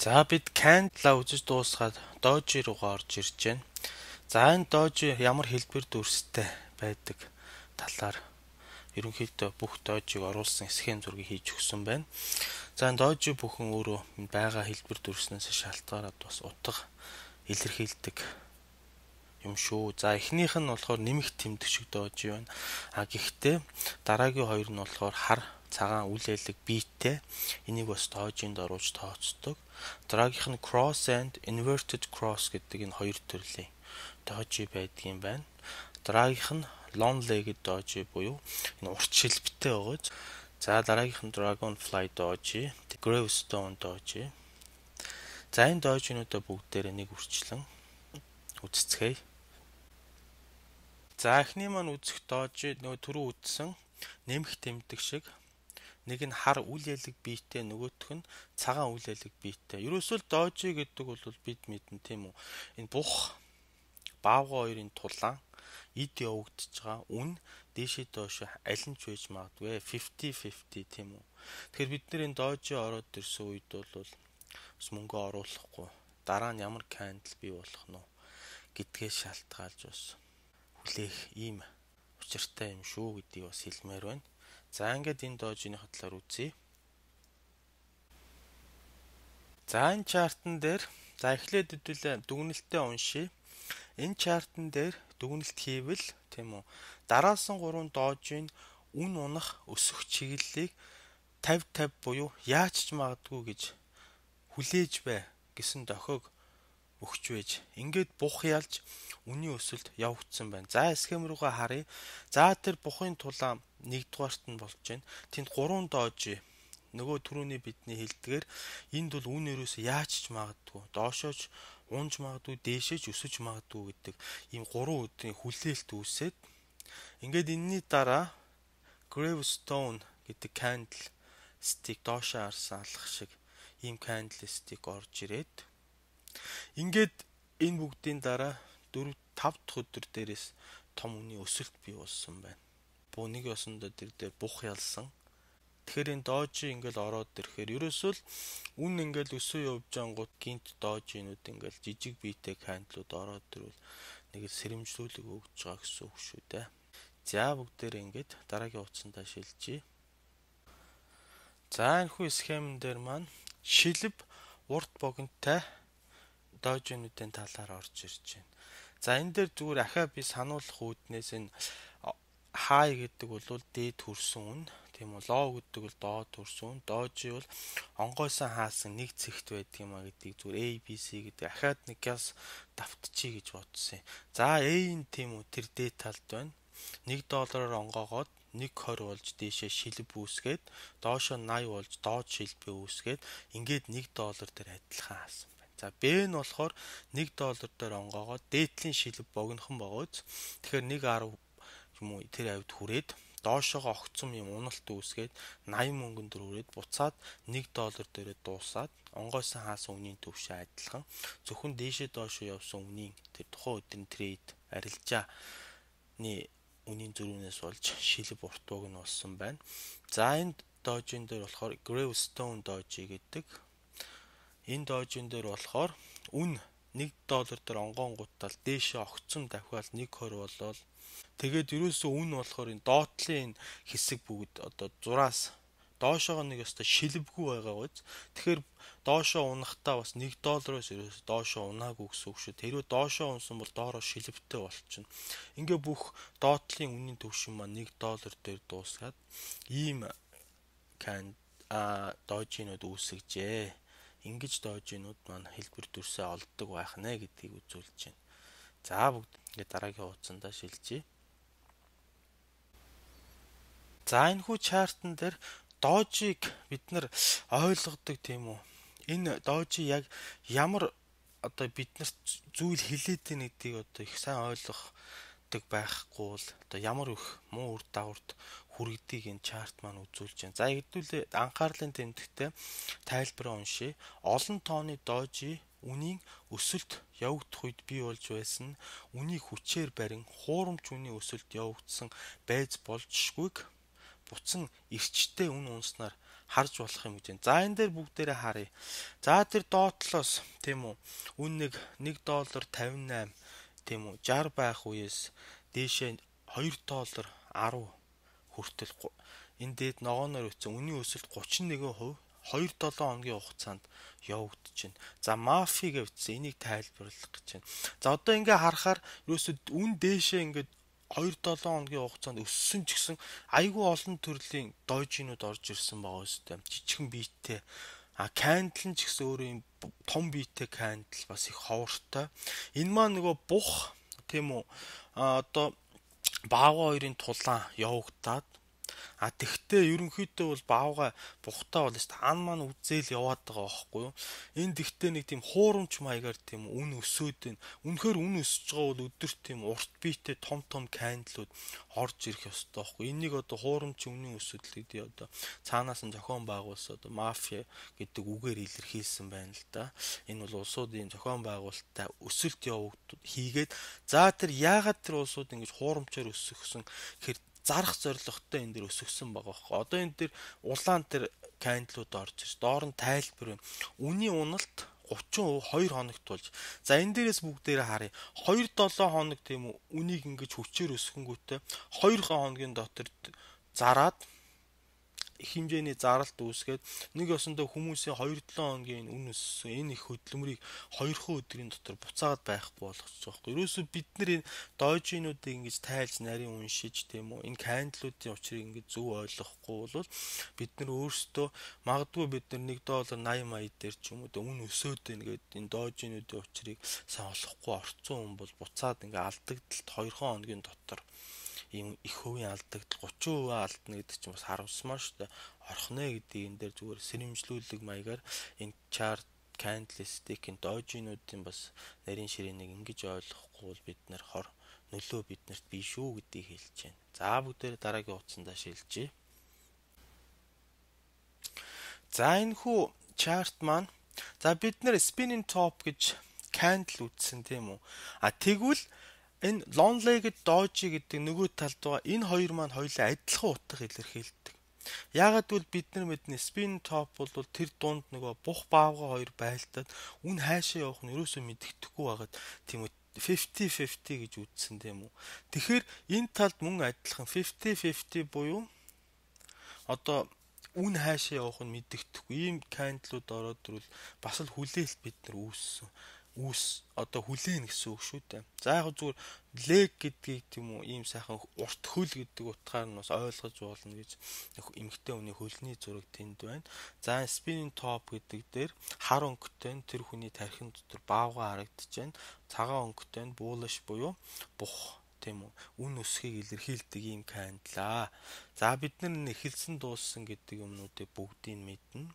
За бид candle үзэж дуусгаад Doji руугаа орж ирж байна. За энэ Doji ямар хэлбэр дүрстэй байдаг талаар ерөнхийдөө бүх Doji-г оруулсан схем зургийг хийж өгсөн байна. За энэ Doji бүхэн өөрөө байгаа хэлбэр дүрснээс шалтгаалаад бас утга илэрхийлдэг юм шүү. За эхнийх нь болохоор нэмэх тэмдэг шиг Doji байна. Гэхдээ дараагийн хоёр нь болохоор хар цагаан үл ялэг биеттэй. Энийг бас Doji-нд оруулж тооцдог. Дараагийнх нь cross and inverted cross гэдэг энэ хоёр төрлийн Doji байдгийн байна. Дараагийнх нь long legged Doji буюу энэ урт шилбэтэй байгааз. За дараагийнх нь dragonfly Doji, gravestone Doji. За энэ Doji-нуудаа бүгдээрээ нэг үрчлэн үзцгээе. За эхний маань үзэх Doji нөгөө түрүү үзсэн нэмэх тэмдэг шиг нэг нь хар үл ялэг биеттэй, нөгөөх нь цагаан үл ялэг биеттэй. Ерөөсөө Doji гэдэг бол бид мэднэ тийм үү. Энэ бух баавга хоёрын тулаан эд явагдаж байгаа үн дээшээ доош аль нь ч байж магадгүй 50-50 тийм үү. Тэгэхээр бид нэр энэ Doji ороод ирсэн үед бол бас мөнгө оруулахгүй дараа нь ямар candle бий болох нь гэдгээ шалтгаалж бас хүлээх ийм учиртай юм шүү гэдгийг бас хэлмээр байна. За ингээд энэ Doji-ны талаар үзье. За энэ чартан дээр за эхлээд хэдүүлээ дүгнэлтээ уншия. Энэ чартан дээр дүгнэлт хийвэл тийм үү. Дараасан 3 Doji-н үн унах өсөх чиглэлийг 50-50 буюу яаж ч магадгүй гэж хүлээж бай гэсэн дохиог өгч байж. Ингээд бух ялж үнийн өсөлт явагдсан байна. За схем руугаа харъя. За тэр бухын тулаан нэгдүгээрт нь болж байна. Тэнд 3 Doji нөгөө түрүүний бидний хэлдгээр энд бол үн ерөөсөө яаж ч магадгүй. Доошооч унж магадгүй, дээшээч өсөж магадгүй гэдэг ийм 3 өдрийн хүлээлт үүсээд ингээд энэний дараа gravestone гэдэг candle stick доошоо харсан алах шиг ийм candle stick орж ирээд ингээд энэ бүгдийн дараа 4-5 дахь өдөр дээрээс том үнийн өсөлт бий болсон байна. Буу нэг ёсондоо тэр дээр бух ялсан. Тэгэхээр энэ Doji ингээл ороод ирэхээр ерөөсөө л үн ингээл өсөө явж ангууд гинт Doji-нууд ингээл жижиг биетэй candle-ууд ороод ирвэл нэг сэрэмжлүүлэг өгж байгаа гэсэн үг шүү дээ. За бүгдээрээ ингээд дараагийн утсандаа шилжиж. За энэ хүү схемэн дээр маань шилб урт богинотой Doji-нуудын талаар орж ирж байна. За энэ дээр зүгээр ахаа би сануулах үүднээс энэ high гэдэг бол дээд хүрсэн үн, тийм үү, low гэдэг бол доод хүрсэн үн, Doji бол онгойсон хаасан нэг цэгт байдаг юм а гэдгийг зүгээр A, B, C гэдэг ахаад нэгээс давтчихъя гэж бодсон юм. За A нь тийм үү тэр дээд талд байна. $1 онгоогоод 1.20 болж дээшээ шилб үүсгээд доошоо 80 болж доод шилбээ үүсгээд ингээд $1 дээр адилхан хаасан. За B нь болохоор $1 дээр онгоогоод дээдлийн шилб богинохон богооз. Тэгэхээр 1.10 юм уу тэр авид хүрээд доошоогоо огцом юм уналт үүсгээд 80 мөнгөн дөр хүрээд буцаад $1 дээрээ дуусаад онгойсон хаасан үнийн төвшөө адилхан зөвхөн дээшээ доошоо явсан үнийн тэр тухайн өдрийн трейд арилжааны үнийн зөрүүнээс болж шилб урт богино болсон байна. За энэ Doji-н дээр болохоор gravestone Doji гэдэг. Энэ Doji-н дээр болохоор үн $1 дээр онгоонгуудтал дээшээ огцом давхиал 1.20 болол тэгээд ерөөсөө үн болохоор энэ доотлын энэ хэсэг бүгд одоо зураас доошоогоо нэг өстой шилбгүй байгаа гоц. Тэгэхээр доошоо унахтаа бас $1-оос ерөөсөө доошоо унаагүй гэсэн үг шүү. Тэрөө доошоо унсан бол доороо шилбэтэй болчихно. Ингээ бүх доотлын үнийн төвшин маань $1 дээр дуусгаад ийм Doji-нууд үүсгэжээ. Ингэж Doji-нууд маань хэлбэр дүрсээ олддог байх нэ гэдгийг үзүүлж байна. За бүгд ингээ дараагийн хуудсандаа шилжиж. За энэ хүү чартан дээр Doji-г бид нар ойлгодог тийм үү. Энэ Doji яг ямар одоо биднэрт зүйл хэлээд байна гэдгийг одоо их сайн ойлгодог байхгүй бол одоо ямар их муу үр дагаварт хүргэдгийг энэ чарт маань үзүүлж байна. За хэдүүлээ анхаарлын тэмдэгтээ тайлбараа уншия. Олон тооны Doji үнийн өсөлт явагдах үед бий болж байсан үнийг хүчээр барин хуурамч үнийн өсөлт явагдсан байж болжшгүйг буцан эрчтэй үн унснаар харж болох юм гэж байна. За энэ дээр бүгдээрээ харъя. За тэр доотлоос тийм үү үн нэг $1.58 тийм үү 60 байх үеэс дээшээ $2.10 хүртэл энэ дээд ногооноор үтсэн үнийн өсөлт 31% 2-7 хоногийн хугацаанд явагдчихэв. За мафи гэвчсэн энийг тайлбарлах гэж байна. За одоо ингээ харахаар ерөөсөд үн дээшээ ингээ 2-7 хоногийн хугацаанд өссөн ч гэсэн айгүй олон төрлийн дойжинууд орж ирсэн байгаа үстэй. Жижигхэн биеттэй. Candle нь ч гэсэн өөрөө юм том биеттэй candle бас их ховортой. Энэ маань нөгөө бух тийм үү одоо баавга хоёрын тулаан явагдаад тэгтээ ерөнхийдөө бол баавга бухтаа бол ан маань үзэл яваад байгаа байхгүй юу. Энэ тэгтээ нэг тийм хуурамч маягаар тийм үн өсөөд байна. Үнэхээр үн өсөж байгаа бол өдөрт тийм урт биетэй том кандлууд орж ирэх ёстой байхгүй. Энийг одоо хуурамч үнийн өсөлт гэдэг одоо цаанаас нь зохион байгуулсан одоо мафия гэдэг үгээр илэрхийлсэн байна л да. Энэ бол улсуудын зохион байгуулалттай өсөлт хийгээд за тэр яагаад тэр улсууд ингэж хуурамчаар өсгсөн гэхээр зарах зорилготой энэ дэр өсгсөн байгаа байхгүй. Одоо энэ дэр улаан тэр кандлууд орж ирж доор нь тайлбар байна. Үнийн уналт 30% 2 хоногт болж. За энэ дээрээс бүгдээрээ харъя. 2-7 хоног тийм үү үнийг ингэж хүчээр өсгөнгүүтээ 2 хоногийн дотор зараад их хэмжээний заралт үүсгээд нэг ёсондоо хүмүүсийн 2-7 хоногийн үн өссөн энэ их хөдөлмөрийг 2 өдрийн дотор буцаагаад байхгүй болгочих жоохоо. Ерөөсөө бид нар энэ дойжинуудыг ингэж тайлж нарийн уншиж тийм үү энэ кандлуудын учрыг ингэж зөв ойлгохгүй бол бид нар өөрсдөө магадгүй бид нар $1.80 дээр ч юм уу үн өсөөд байна гэдэг энэ дойжинуудын учрыг сайн олохгүй орцсон хүн бол буцаад ингэ алдагдлалт 2 хоногийн дотор ийм их хувийн алдагдал 30% алдна гэдэг чинь бас харамсмаар шүү дээ. Орхно гэдэг энэ дээр зүгээр сэрэмжлүүлэг маягаар энэ chart candlestick-ийн дойжинуудын бас нарийн ширээнийг ингэж ойлгохгүй бол бид нар нөлөө биднэрт бий шүү гэдгийг хэлж байна. За бүгдээр дараагийн утсандаа шилжье. За энэ хүү chart маань за бид нар spinning top гэж candle үзсэн тийм үү? Тэгвэл энэ long-legged doji гэдэг нөгөө талд байгаа энэ хоёр маань хоёулаа адилхан утга илэрхийлдэг. Яагаад гэвэл бид нар мэднэ spin top бол тэр дунд нөгөө бух баавга хоёр байлдаад үн хаашаа явах нь ерөөсөө мэддэхгүй байгаад тийм үү 50-50 гэж үзсэн тийм үү. Тэгэхээр энэ талд мөн адилхан 50-50 буюу одоо үн хаашаа явах нь мэддэхгүй ийм кандлууд ороод ирвэл бас л хүлээлт бид нар одоо хүлээн гэсэн үг шүү дээ. За яг зүгээр лег гэдгийг тийм үү ийм сайхан урт хөл гэдэг утгаар нь бас ойлгож болно гэж эмэгтэй хүний хөлний зураг тэнд байна. За spinning top гэдэг дээр хар өнгөтэй тэр хүний тархин дотор баавга харагдаж байна. Цагаан өнгөтэй bullish буюу бух тийм үү үн өсөхийг илэрхийлдэг ийм кандлаа. За бид нар эхэлсэн дууссан гэдэг юмнуудыг бүгдийг мэднэ.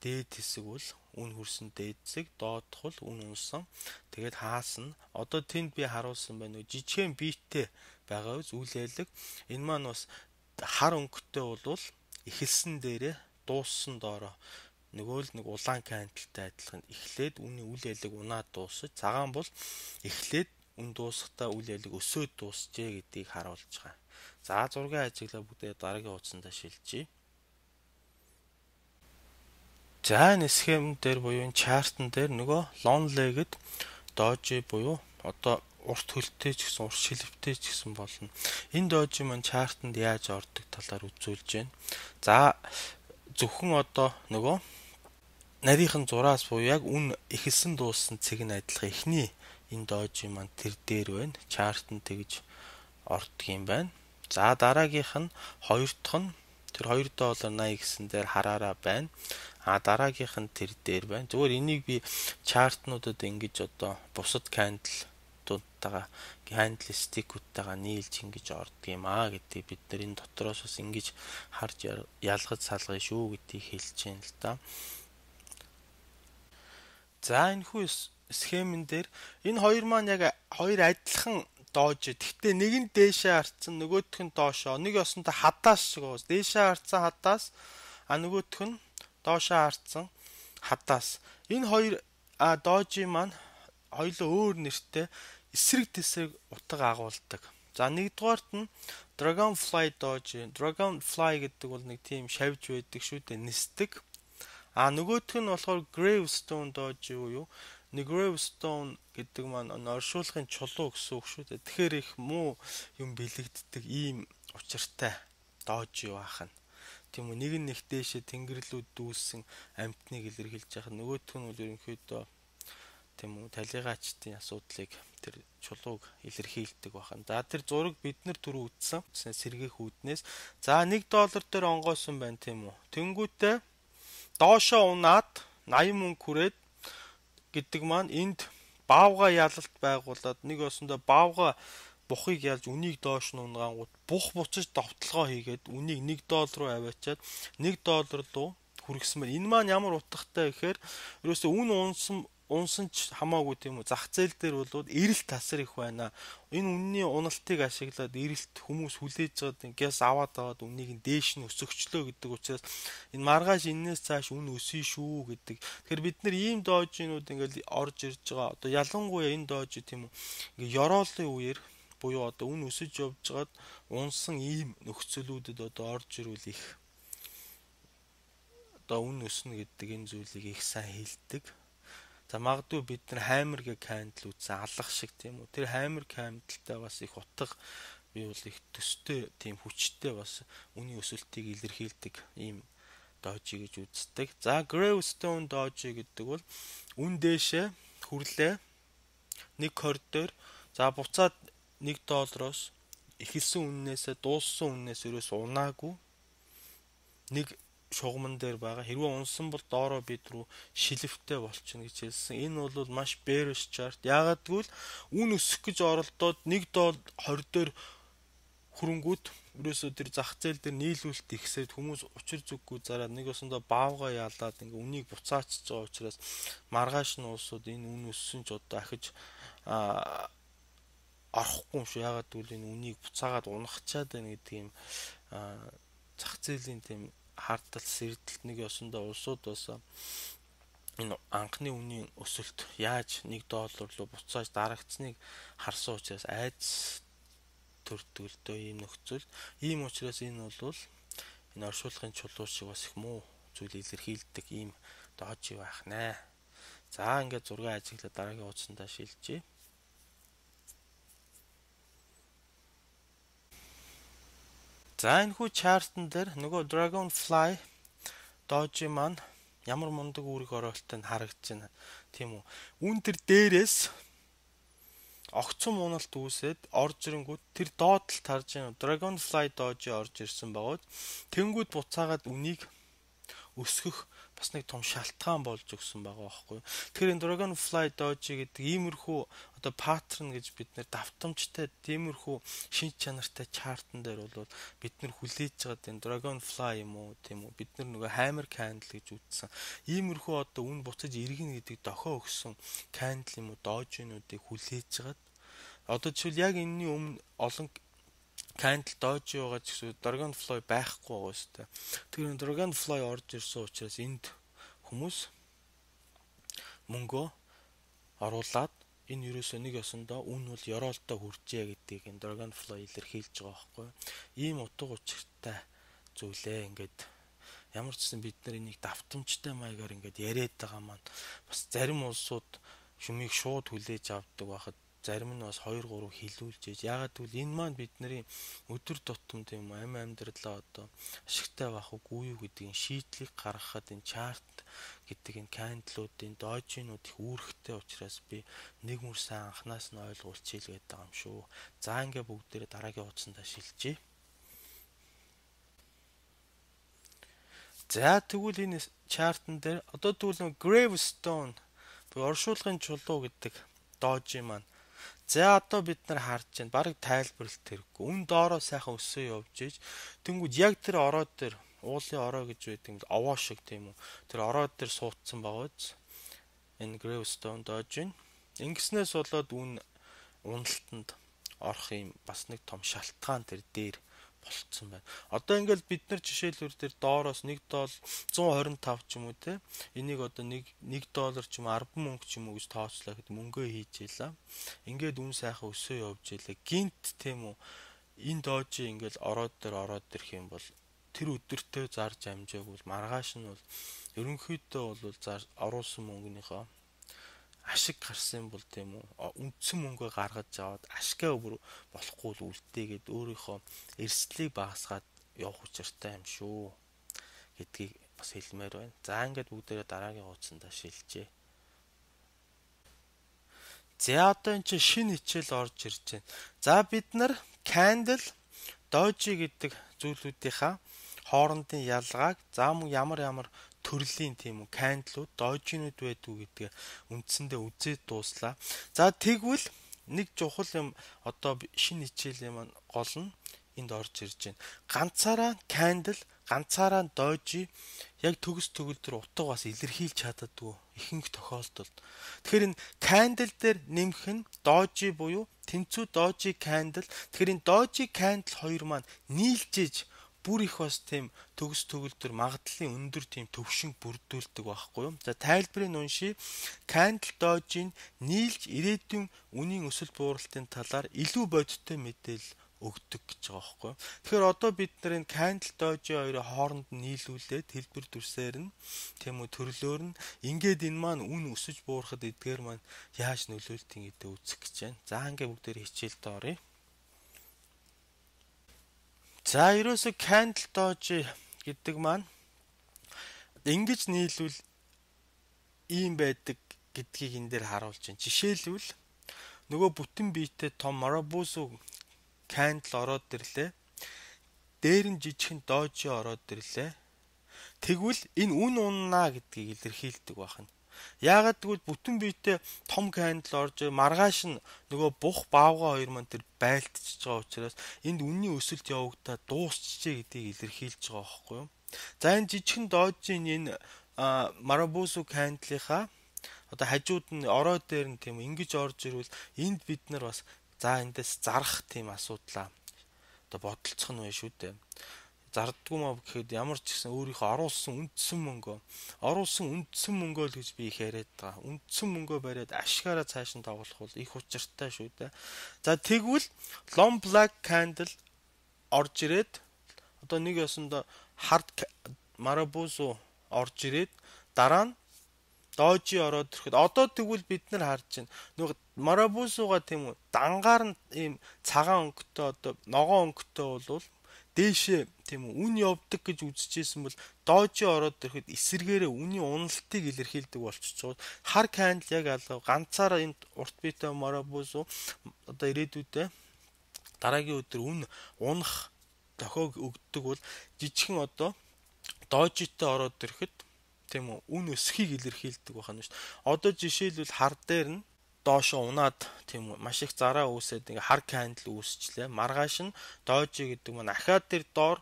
Дээд хэсэг бол үн хүрсэн дээд хэсэг, доодох бол үн унсан. Тэгээд хаасна. Одоо тэнд би харуулсан байна. Жижигхэн биеттэй байгаа үз үйл ялэг. Энэ маань бас хар өнгөтэй бол эхэлсэн дээрээ дууссан доороо нөгөө л нэг улаан кандалтай адилхан эхлээд үний үйл ялэг унаад дуусаж, цагаан бол эхлээд үн дуусахтаа үйл ялэг өсөөд дуусжээ гэдгийг харуулж байгаа. За зургийн ажиглаа бүгдээ дараагийн утсандаа шилжье. За энэ схем дээр буюу энэ чартн дээр нөгөө long-legged doji буюу одоо урт хөлтэй ч гэсэн урт шилвтэй ч гэсэн болно. Энэ doji маань чартнд яаж ордог талаар үзүүлж байна. За зөвхөн одоо нөгөө нарийнхан зураас буюу яг үн эхэлсэн дууссан цэг нь адилхан эхний энэ doji маань тэр дээр байна. Чартнд тэгж ордог юм байна. За дараагийнх нь хоёр дахь нь тэр $2.80 гэсэн дээр хараараа байна. Дараагийнх нь тэр дээр байна. Зүгээр энийг би чартнуудад ингэж одоо бусад кандлуудтайгаа candlestick-уудтайгаа нийлж ингэж ордог юм гэдгийг бид нар энэ дотроос бас ингэж харж ялгаж салгая шүү гэдгийг хэлж байна л да. За энэ хүү схемэн дээр энэ хоёр маань яг хоёр адилхан доож. Гэхдээ нэг нь дээшээ харцсан, нөгөөх нь доошоо. Нэг ёсонтой хадаас шиг уус. Дээшээ харцсан хадаас, нөгөөх нь доошоо харцсан хадаас. Энэ хоёр доожи маань хоёулаа өөр нэртэй эсрэг тесрэг утга агуулдаг. За нэгдүгээрт нь Dragonfly Doge. Dragonfly гэдэг бол нэг тийм шавж байдаг шүү дээ, нисдэг. Нөгөөх нь болохоор Gravestone Doge юу? Нэг Gravestone гэдэг маань оршуулгын чулуу гэсэн үг шүү дээ. Тэгэхээр их муу юм бэлэгддэг ийм учиртай Doge баах нь. Тийм үү, нэг нь их дээшээ тэнгэрлүүд дүүсэн амьтныг илэрхийлж байгаа. Нөгөөх нь бол ерөнхийдөө тийм үү, талигаачдын асуудлыг тэр чулууг илэрхийлдэг байна. За тэр зураг бид нар түрүү үзсэн сэргээх үүднээс. За $1 дээр онгойсон байна тийм үү. Тэнгүүтээ доошоо унаад 80 мөнгө хүрээд гэдэг маань энд баавга ялалт байгуулад нэг осондоо баавга бухыг ялж үнийг доош нь унгангууд бух буцаж довтлогоо хийгээд үнийг $1 руу аваачаад $1 руу хүргэсмээр. Энэ маань ямар утгатай гэхээр ерөөсөө үн унсан ч хамаагүй тийм үү, зах зээл дээр бол эрэлт тасар их байна. Энэ үнний уналтыг ашиглаад эрэлт хүмүүс хүлээж байгаа ингээс аваад аваад үнийг дээш нь өсөгчлөө гэдэг учраас энэ маргааш энээс цааш үн өсөе шүү гэдэг. Тэгэхээр бид нар ийм доожинууд ингээл орж ирж байгаа. Одоо ялангуяа энэ доож тийм үү, ингээ ёроолын үеэр буюу одоо үн өсөж явж байгаад унсан ийм нөхцөлүүдэд одоо орж ирүүл их одоо үн өснө гэдэг энэ зүйлийг их сайн хэлдэг. За магадгүй бид нар хаймергээ кандл үзсэн алах шиг тийм үү. Тэр хаймер кандалтай бас их утга бий бол их төстэй тийм хүчтэй бас үний өсөлтийг илэрхийлдэг ийм дожи гэж үздэг. За Gravestone Doge гэдэг бол үн дээшээ хүрлээ $1.20 дээр за буцаад $1 эхэлсэн үннээсээ дууссан үннээс ерөөс унаагүй нэг шугамн дээр байгаа. Хэрвээ унсан бол доороо бид рүү шилэвтэй болчихно гэж хэлсэн. Энэ бол маш bearish chart. Яагаад гэвэл үн өсөх гэж оролдоод $1.20 дээр хөрөнгүүд ерөөсөө тэр зах зээл дээр нийлүүлэлт ихсээд хүмүүс учир зүггүй зараад нэг осондоо баавга яалаад ингээ үнийг буцаачж байгаа учраас маргааш нь улсууд энэ үн өссөн ч одоо ахиж орохгүй юм шүү. Яагаад гэвэл энэ үнийг буцаагаад унахчаад байна гэдэг юм зах зээлийн тийм хардтал сэрдэлт нэг ёсондоо улсууд бас энэ анхны үнийн өсөлт яаж $1 руу буцааж дарагдсныг харсан учраас айц төрдөг л дөө ийм нөхцөл. Ийм учраас энэ бол энэ оршуулгын чулуу шиг бас их муу зүйл илэрхийлдэг ийм дожи байх нэ. За ингээд зураг ажиглаад дараагийн хуудсандаа шилжье. За энэ хүү чартн дээр нөгөө Dragonfly Doge маань ямар мундаг үүрэг ороолтойг харагдаж байна. Тийм үү. Үн тэр дээрээс огцом уналт үүсээд орж ирэнгүүт тэр доотлолт харж байна. Dragonfly Doge орж ирсэн багууд тэнгүүд буцаагаад үнийг өсгөх бас нэг том шалтгаан болж өгсөн байгаа байхгүй. Тэгэхээр энэ Dragonfly Doge гэдэг иймэрхүү одоо паттерн гэж бид нэр давтамжтай тиймэрхүү шинж чанартай чартн дээр бол бид нар хүлээж байгаа энэ Dragonfly юм уу тийм үү, бид нар нөгөө hammer candle гэж үзсэн иймэрхүү одоо үн буцаж иргэн гэдэг дохио өгсөн candle юм уу Doge-нуудыг хүлээж байгаа. Одоо жишээл яг энэний өмнө олон candle Doge байгаа ч гэсэн Dragonfly байхгүй байгаа шүү дээ. Тэгэхээр Dragonfly орж ирсэн учраас энд хүмүүс мөнгөө оруулаад энэ ерөөсөө нэг ёсондоо үн бол ёроолтой хүрчээ гэдгийг энэ Dragonfly илэрхийлж байгаа байхгүй. Ийм утга учиртай зүйлээ ингээд ямар ч гэсэн бид нар энийг давтамжтай маягаар ингээд яриад байгаа маань бас зарим улсууд юмыг шууд хүлээж авдаг байхад зарим нь бас 2-3 хилүүлж ийж ягаад гэвэл энэ маань бидний өдөр тутам тийм амь амьдралаа одоо ашигтай байх үгүй юу гэдгийг шийдлийг гаргахад энэ чарт гэдэг энэ кандалуудын дожинууд их үүрэгтэй учраас би нэг мөр сайн анханаас нь ойлгуулчих гээд байгаа юм шүү. За ингээ бүгдээрээ дараагийн хуудсандаа шилжье. За тэгвэл энэ чартн дээр одоо тэгвэл Gravestone буюу оршуулгын чулуу гэдэг дожи маань за одоо бид нар харж байна. Бараг тайлбарлалт хэрэггүй. Үн доороо сайхан өсөө явж ийж тэнгууд яг тэр ороод дээр уулын ороо гэж байдаг овоо шиг тийм үү. Тэр ороод дээр суудсан байгааз энэ Gravestone Doge ингэснээс болоод үн уналтанд орох юм бас нэг том шалтгаан тэр дээр болцсон байна. Одоо ингээд бид нар жишээлбэл дээр доороос $1 125 ч юм уу те. Энийг одоо $1 ч юм уу 10 мөнгө ч юм уу гэж тооцлоо гэхэд мөнгөө хийж ийлаа. Ингээд үн сайхан өсөө явж ийлээ. Гинт тийм үү. Энэ дожи ингээд ороод ирэх юм бол тэр өдөртөө зарж амжааг бол маргааш нь бол ерөнхийдөө бол оруулсан мөнгөнийхөө ашиг гарсан бол тийм үү үндсэн мөнгөө гаргаж аваад ашгаа бүр болохгүй л үлдээгээд өөрийнхөө эрсдлийг багасгаад явах учиртай юм шүү гэдгийг бас хэлмээр байна. За ингээд бүгдээрээ дараагийн хуудсандаа шилжээ. За одоо энэ чинь шинэ хичээл орж ирж байна. За бид нар candle doji гэдэг зүйлүүдийнхаа хоорондын ялгааг ямар төрлийн тийм үү candle-ууд дожинууд байдгүй гэдгээ үндсэндээ үзээд дууслаа. За тэгвэл нэг чухал юм одоо шинэ хичээлийн маань гол нь энд орж ирж байна. Ганцаараа candle, ганцаараа doji яг төгс төгөлдөр утга бас илэрхийлж чаддаггүй ихэнх тохиолдолд. Тэгэхээр энэ candle дээр нэмэх нь doji буюу тэнцүү doji candle. Тэгэхээр энэ doji candle хоёр маань нийлжээж бүр их бас тийм төгс төгөлдөр магадлалын өндөр тийм төвшинг бүрдүүлдэг байхгүй юу. За тайлбарыг уншия. Candle doji-г нийлж ирээдүйн үнийн өсөлт бууралтын талаар илүү бодиттой мэдээлэл өгдөг гэж байгаа байхгүй юу. Тэгэхээр одоо бид нар энэ candle doji хоёрын хооронд нийлүүлээд хэлбэр дүрсээр нь тийм үү төрлөөр нь ингээд энэ маань үн өсөж буурахад эдгээр маань яаж нөлөөлтийн гэдэг үзэх гэж байна. За ингээд бүгдээр хичээлд оръё. За ерөөсө candle doji гэдэг маань ингэж нийлүүл ийм байдаг гэдгийг энэ дээр харуулж байна. Жишээлбэл нөгөө бүтэн биетэй том Maraboso candle ороод ирлээ. Дээр нь жижигхэн doji ороод ирлээ. Тэгвэл энэ үн уннаа гэдгийг илэрхийлдэг байна. Яагаад гэвэл бүтэн биетэй том candle орж маргааш нь нөгөө бух баавга хоёр маань тэр байлтчихж байгаа учраас энд үнийн өсөлт явагдаад дуусчихжээ гэдгийг илэрхийлж байгаа байхгүй юу. За энэ жижигхэн дожийн энэ Maraboso candle-ийнхаа одоо хажууд нь ороо дээр нь тийм ингэж орж ирвэл энд бид нар бас за эндээс зарах тийм асуудлаа одоо бодолцох нь байна шүү дээ. Зарддгүй маа гэхэд ямар ч гэсэн өөрийнхөө оруулсан үндсэн мөнгөө л гэж би их яриад байгаа. Үндсэн мөнгөө бариад ашгаараа цааш нь тоглох бол их учиртай шүү дээ. За тэгвэл long black candle орж ирээд одоо нэг ясандаа hard Maraboso орж ирээд дараа нь doji ороод ирэхэд одоо тэгвэл бид нар харж байна. Нөгөө Maraboso-га тийм үү дангаар нь ийм цагаан өнгөтэй одоо ногоон өнгөтэй болвол дээшээ тийм үү үн явдаг гэж үзчихсэн бол doji ороод ирэхэд эсэргээрээ үнийн уналтыг илэрхийлдэг болчихж байгаа. Хар candle яг алга ганцаараа энэ урт биетэй Maraboso одоо ирээдүйдээ дараагийн өдөр үн унах дохиог өгдөг бол жижигхэн одоо doji-тэй ороод ирэхэд тийм үү үн өсөхийг илэрхийлдэг байна шүү. Одоо жишээлбэл хар дээр нь доошо унаад тийм үү маш их зараа үүсээд ингээ хар candle үүсчлээ. Маргааш нь doji гэдэг маань ахаад тэр доор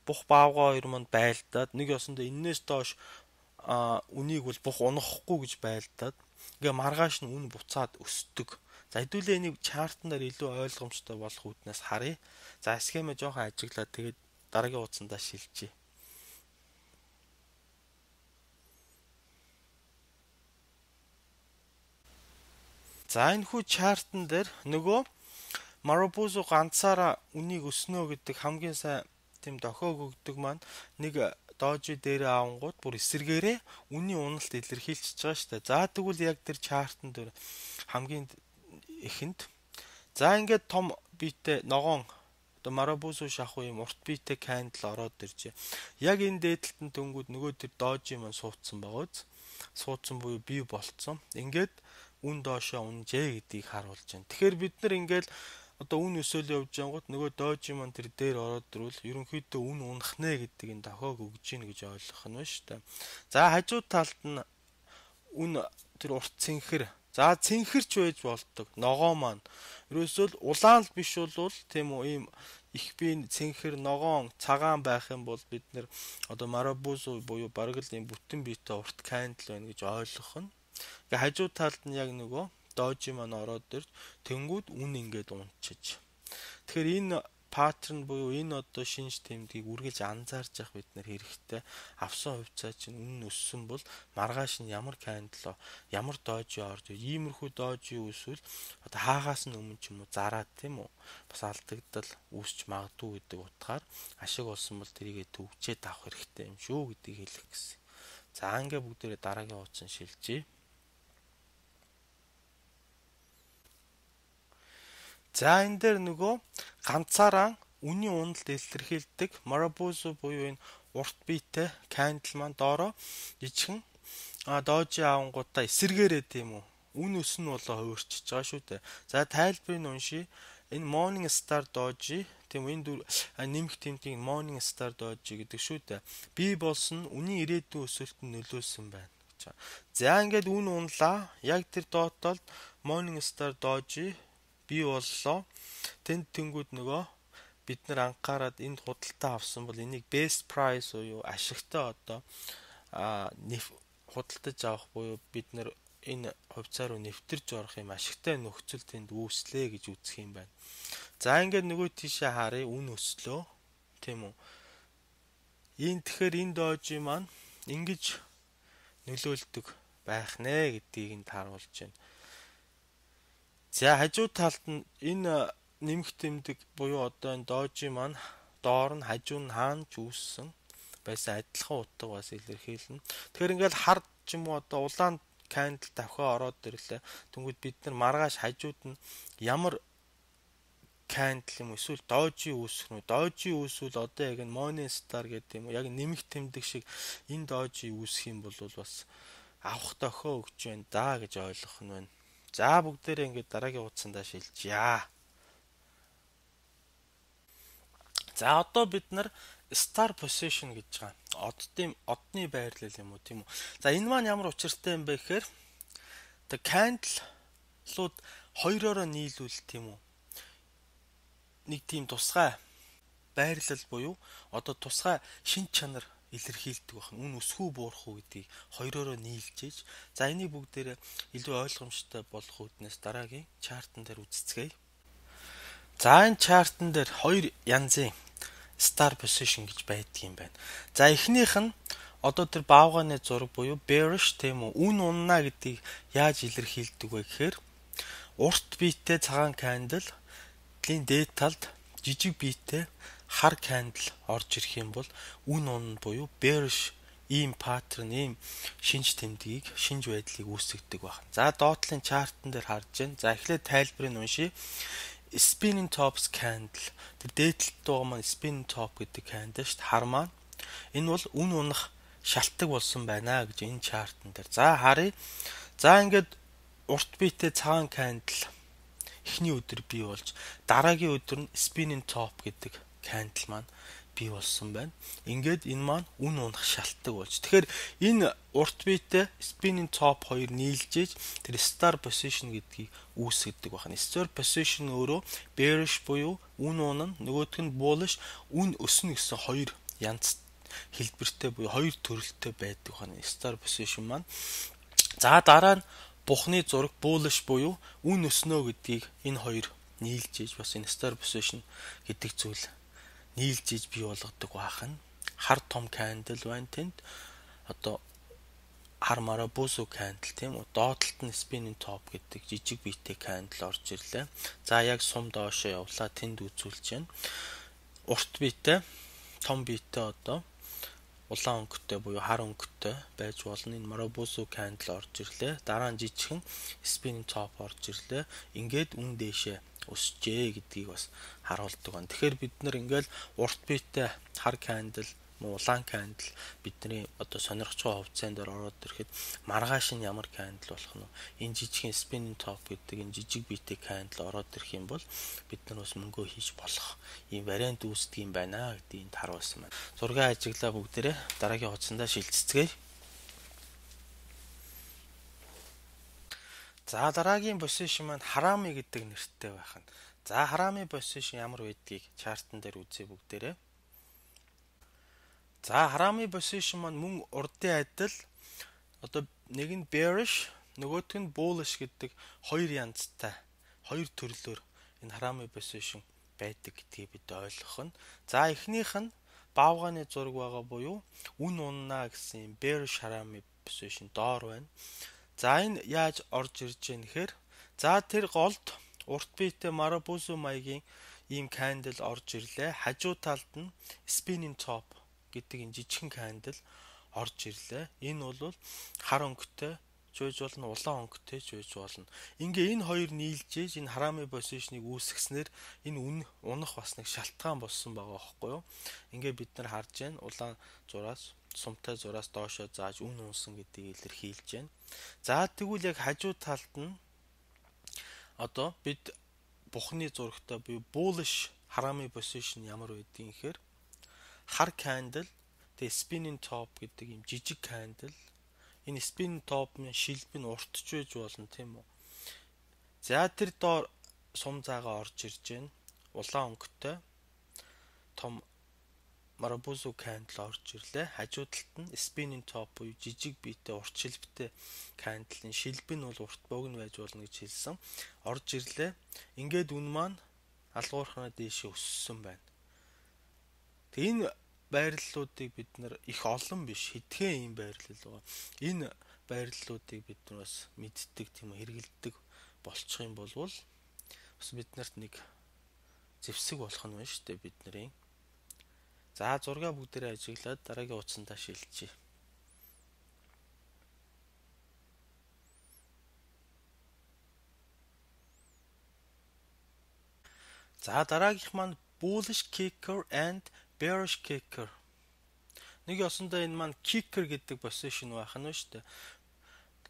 бух баавга хоёр маань байлдаад нэг ёсондоо энээс доош үнийг бол бух унахгүй гэж байлдаад ингээ маргааш нь үн буцаад өсдөг. За хэдүүлээ энийг чартнаар илүү ойлгомжтой болох үүднээс харъя. За схемээ жоохон ажиглаад тэгээд дараагийн хуудсандаа шилжье. За энэ хүү чартн дээр нөгөө Maraboso ганцаараа үнийг өснө гэдэг хамгийн сайн тийм дохиог өгдөг маань нэг doji дээрээ авангууд бүр эсэргээрээ үнийн уналт илэрхийлчихэж байгаа шүү дээ. За тэгвэл яг тэр чартн дээр хамгийн эхэнд за ингээд том биетэй ногоон одоо Maraboso шахуу юм урт биетэй candle ороод иржээ. Яг энэ дээдлэлтэн дөнгүүд нөгөө тэр doji маань суудсан байгааз суудсан буюу бий болцсон. Ингээд үн доошоо унжээ гэдгийг харуулж байна. Тэгэхээр бид нар ингээл одоо үн өсөөл явж байнгут нөгөө doji маань тэр дээр ороод ирвэл ерөнхийдөө үн унах нэ гэдэг энэ дохиог өгж гин гэж ойлгох нь ба шүү дээ. За хажуу талд нь үн тэр урт цэнхэр. За цэнхэрч байж болдог. Ногоо маань ерөөсөө улаан л биш бол тийм үү ийм их бие цэнхэр ногоон цагаан байх юм бол бид нар одоо Maraboso буюу бараг л ийм бүтэн биетэй урт candle байна гэж ойлгох нь. Ингээ хажуу талд нь яг нөгөө doji маань ороод ирж тэнгүүд үн ингээд унчиж. Тэгэхээр энэ паттерн буюу энэ одоо шинж тэмдгийг үргэлж анзаарч явах бид нар хэрэгтэй. Авсан хувьцаа чинь үнэн өссөн бол маргааш нь ямар кандл ямар дожи орж иймэрхүү дожи үүсвэл одоо хаагаас нь өмнө ч юм уу зараад тийм үү бас алдагдал үүсч магадгүй гэдэг утгаар ашиг болсон бол тэрийгэ төвчээд авах хэрэгтэй юм шүү гэдгийг хэлэх гэсэн. За ингээ бүгдээрээ дараагийн хуудсан шилжиж. За энэ дээр нөгөө ганцаараа үнийн уналд илэрхийлдэг Marubozu буюу энэ урт биетэй candle маань доороо жижигхэн дожи авангуудаа эсэргээрээ тийм үү. Үн өс нь болоо хувирчиж байгаа шүү дээ. За тайлбарыг уншия. Энэ Morning Star Doji тийм энэ нэмэх тэмдгийг Morning Star Doji гэдэг шүү дээ. Би болсон үнийн ирээдүйн өсөлтөнд нөлөөсөн байна гэж. За ингээд үн унлаа. Яг тэр доотлолд Morning Star Doji бий боллоо. Тэнд тэнгүүд нөгөө бид нар анхаарад энд худалдаа авсан бол энийг best price буюу ашигтай одоо худалдаж авах буюу бид нар энэ хувьцаа руу нэвтэрж орох юм ашигтай нөхцөл тэнд үүслээ гэж үзэх юм байна. За ингээд нөгөө тийшээ харъя үн өслөө тийм үү. Тэгэхээр энэ дожи маань ингэж нөлөөлдөг байх нэ гэдгийг энд харуулж байна. За хажуу талд нь энэ нэмэх тэмдэг буюу одоо энэ дожи маань доор нь хажуу нь хаана ч үүссэн байсан адилхан утга бас илэрхийлнэ. Тэгэхээр ингээл хард ч юм уу одоо улаан candle давхаа ороод ирлээ. Тэнгүүд бид нар маргааш хажууд нь ямар candle юм эсвэл дожи үүсэх нь дожи үүсвэл одоо яг энэ Morning Star гэдэг юм уу яг нэмэх тэмдэг шиг энэ дожи үүсэх юм бол бас авах дохио өгч байна да гэж ойлгох нь байна. За бүгдээрээ ингээд дараагийн хуудсандаа шилжъя. За одоо бид нар star position гэж байгаа. Одны байрлал юм уу тийм үү. За энэ маань ямар учиртай юм бэ гэхээр the candle-ууд хоёроор нийлүүл тийм үү. Нэг тийм тусгай байрлал буюу одоо тусгай шин чанар илэрхийлдэг байна. Үн өсвөө буурах уу гэдгийг хоёроор нийлж ийж. За энийг бүгдээрээ илүү ойлгомжтой болох үүднээс дараагийн чартан дээр үзцгээе. За энэ чартан дээр хоёр янзын star position гэж байдаг юм байна. За эхнийх нь одоо тэр баавганы зураг буюу bearish тийм үү. Үн унна гэдгийг яаж илэрхийлдэг вэ гэхээр урт биетэй цагаан candle-ийн дээд талд жижиг биетэй хар candle орж ирэх юм бол үн унна буюу bearish ийм паттерн ийм шинж тэмдгийг шинж байдлыг үүсгдэг байна. За доотлын чартан дээр харж байна. За эхлээд тайлбарыг уншия. Spinning tops candle тэр дээдлэлт байгаа маань spinning top гэдэг candle шүү дээ. Хар маань энэ бол үн унах шалтгаан болсон байна гэж энэ чартан дээр. За харъя. За ингээд урт биетэй цагаан candle эхний өдөр бий болж дараагийн өдөр нь spinning top гэдэг candle маань бий болсон байна. Ингээд энэ маань үн унах шалтгаан болж. Тэгэхээр энэ урт биетэй spinning top хоёр нийлжээж тэр star position гэдгийг үүсгэдэг байна. Star position өөрөө bearish буюу үн унана, нөгөөх нь bullish үн өснө гэсэн хоёр янз хэлбэртэй буюу хоёр төрөлтэй байдаг байна. Star position маань. За дараа нь бухны зураг bullish буюу үн өснө гэдгийг энэ хоёр нийлжээж бас энэ star position гэдэг зүйл нийлжээж бий болгодог бахан. Хар том candle байна тэнд. Одоо хар Marubozu candle тийм үү. Доотлолт нь spinning top гэдэг жижиг биетэй candle орж ирлээ. За яг сум доошоо явлаа тэнд үзүүлж байна. Урт биетэй, том биетэй одоо улаан өнгөтэй буюу хар өнгөтэй байж болно. Энэ Marubozu candle орж ирлээ. Дараа нь жижигхэн spinning top орж ирлээ. Ингээд үн дээшээ өсчээ гэдгийг бас харуулдаг байна. Тэгэхээр бид нар ингээл урт биетэй хар candle, улаан candle бидний одоо сонирхож байгаа хувьцаанд ороод ирэхэд маргааш нь ямар candle болох нь энэ жижигхэн spinning top гэдэг энэ жижиг биетэй candle ороод ирэх юм бол бид нар бас мөнгөө хийж болох ийм вариант үүсдэг юм байна гэдгийг харуулсан байна. Зургийн ажиглаа бүгдээрээ дараагийн хуудсандаа шилжцгээе. За дараагийн position маань Harami гэдэг нэртэй байх нь. За Harami position ямар байдгийг чартан дээр үзье бүгдээрээ. За Harami position маань мөн урдын адил одоо нэг нь bearish, нөгөөх нь bullish гэдэг хоёр янзтай, хоёр төрлөөр энэ Harami position байдаг гэдгийг бид ойлгох нь. За эхнийх нь баавганы зураг байгаа буюу үн уннаа гэсэн bearish harami position доор байна. За энэ яаж орж ирж байна гэхээр за тэр голд урт биетэй Marubozu маягийн ийм candle орж ирлээ. Хажуу талд нь spinning top гэдэг энэ жижигхэн candle орж ирлээ. Энэ бол хар өнгөтэй чойж болно, улаан өнгөтэй чойж болно. Ингээ энэ хоёр нийлж ийж энэ harami position-ыг үүсгэснээр энэ унах бас нэг шалтгаан болсон байгаа байхгүй юу? Ингээ бид нар харж байна. Улаан зураас, сумтай зураас доошоо зааж үн унсан гэдгийг илэрхийлж байна. За тэгвэл яг хажуу талд нь одоо бид бухны зурагтай буюу bullish harami position ямар байдгийг гэхээр хар candle, тэгээ spinning top гэдэг юм жижиг candle. Энэ spinning top-ын шилбэг нь уртж байж болно тийм үү. За тэр доор сум заагаа орж ирж байна. Улаан өнгөтэй том Marubozu candle орж ирлээ. Хажуу талд нь spinning top буюу жижиг биетэй урт шилбэгтэй candle-ын шилбэг нь бол урт богино байж болно гэж хэлсэн. Орж ирлээ. Ингээд үн маань алгуурхнаа дээшээ өссөн байна. Тэгээ энэ байрлалуудыг бид нар их олон биш хэдхэн ийм байрлал байгаа. Энэ байрлалуудыг бид нар бас мэддэг тийм үү, хэрэгэлдэг болчих юм бол бас биднэрт нэг зэвсэг болох нь байна шүү дээ бидний. За зургаа бүгдээрээ ажиглаад дараагийн утсандаа шилжчихье. За дараагийнх маань bullish kicker and bearish kicker. Нэг ёсондоо энэ маань kicker гэдэг position байх нь шүү дээ.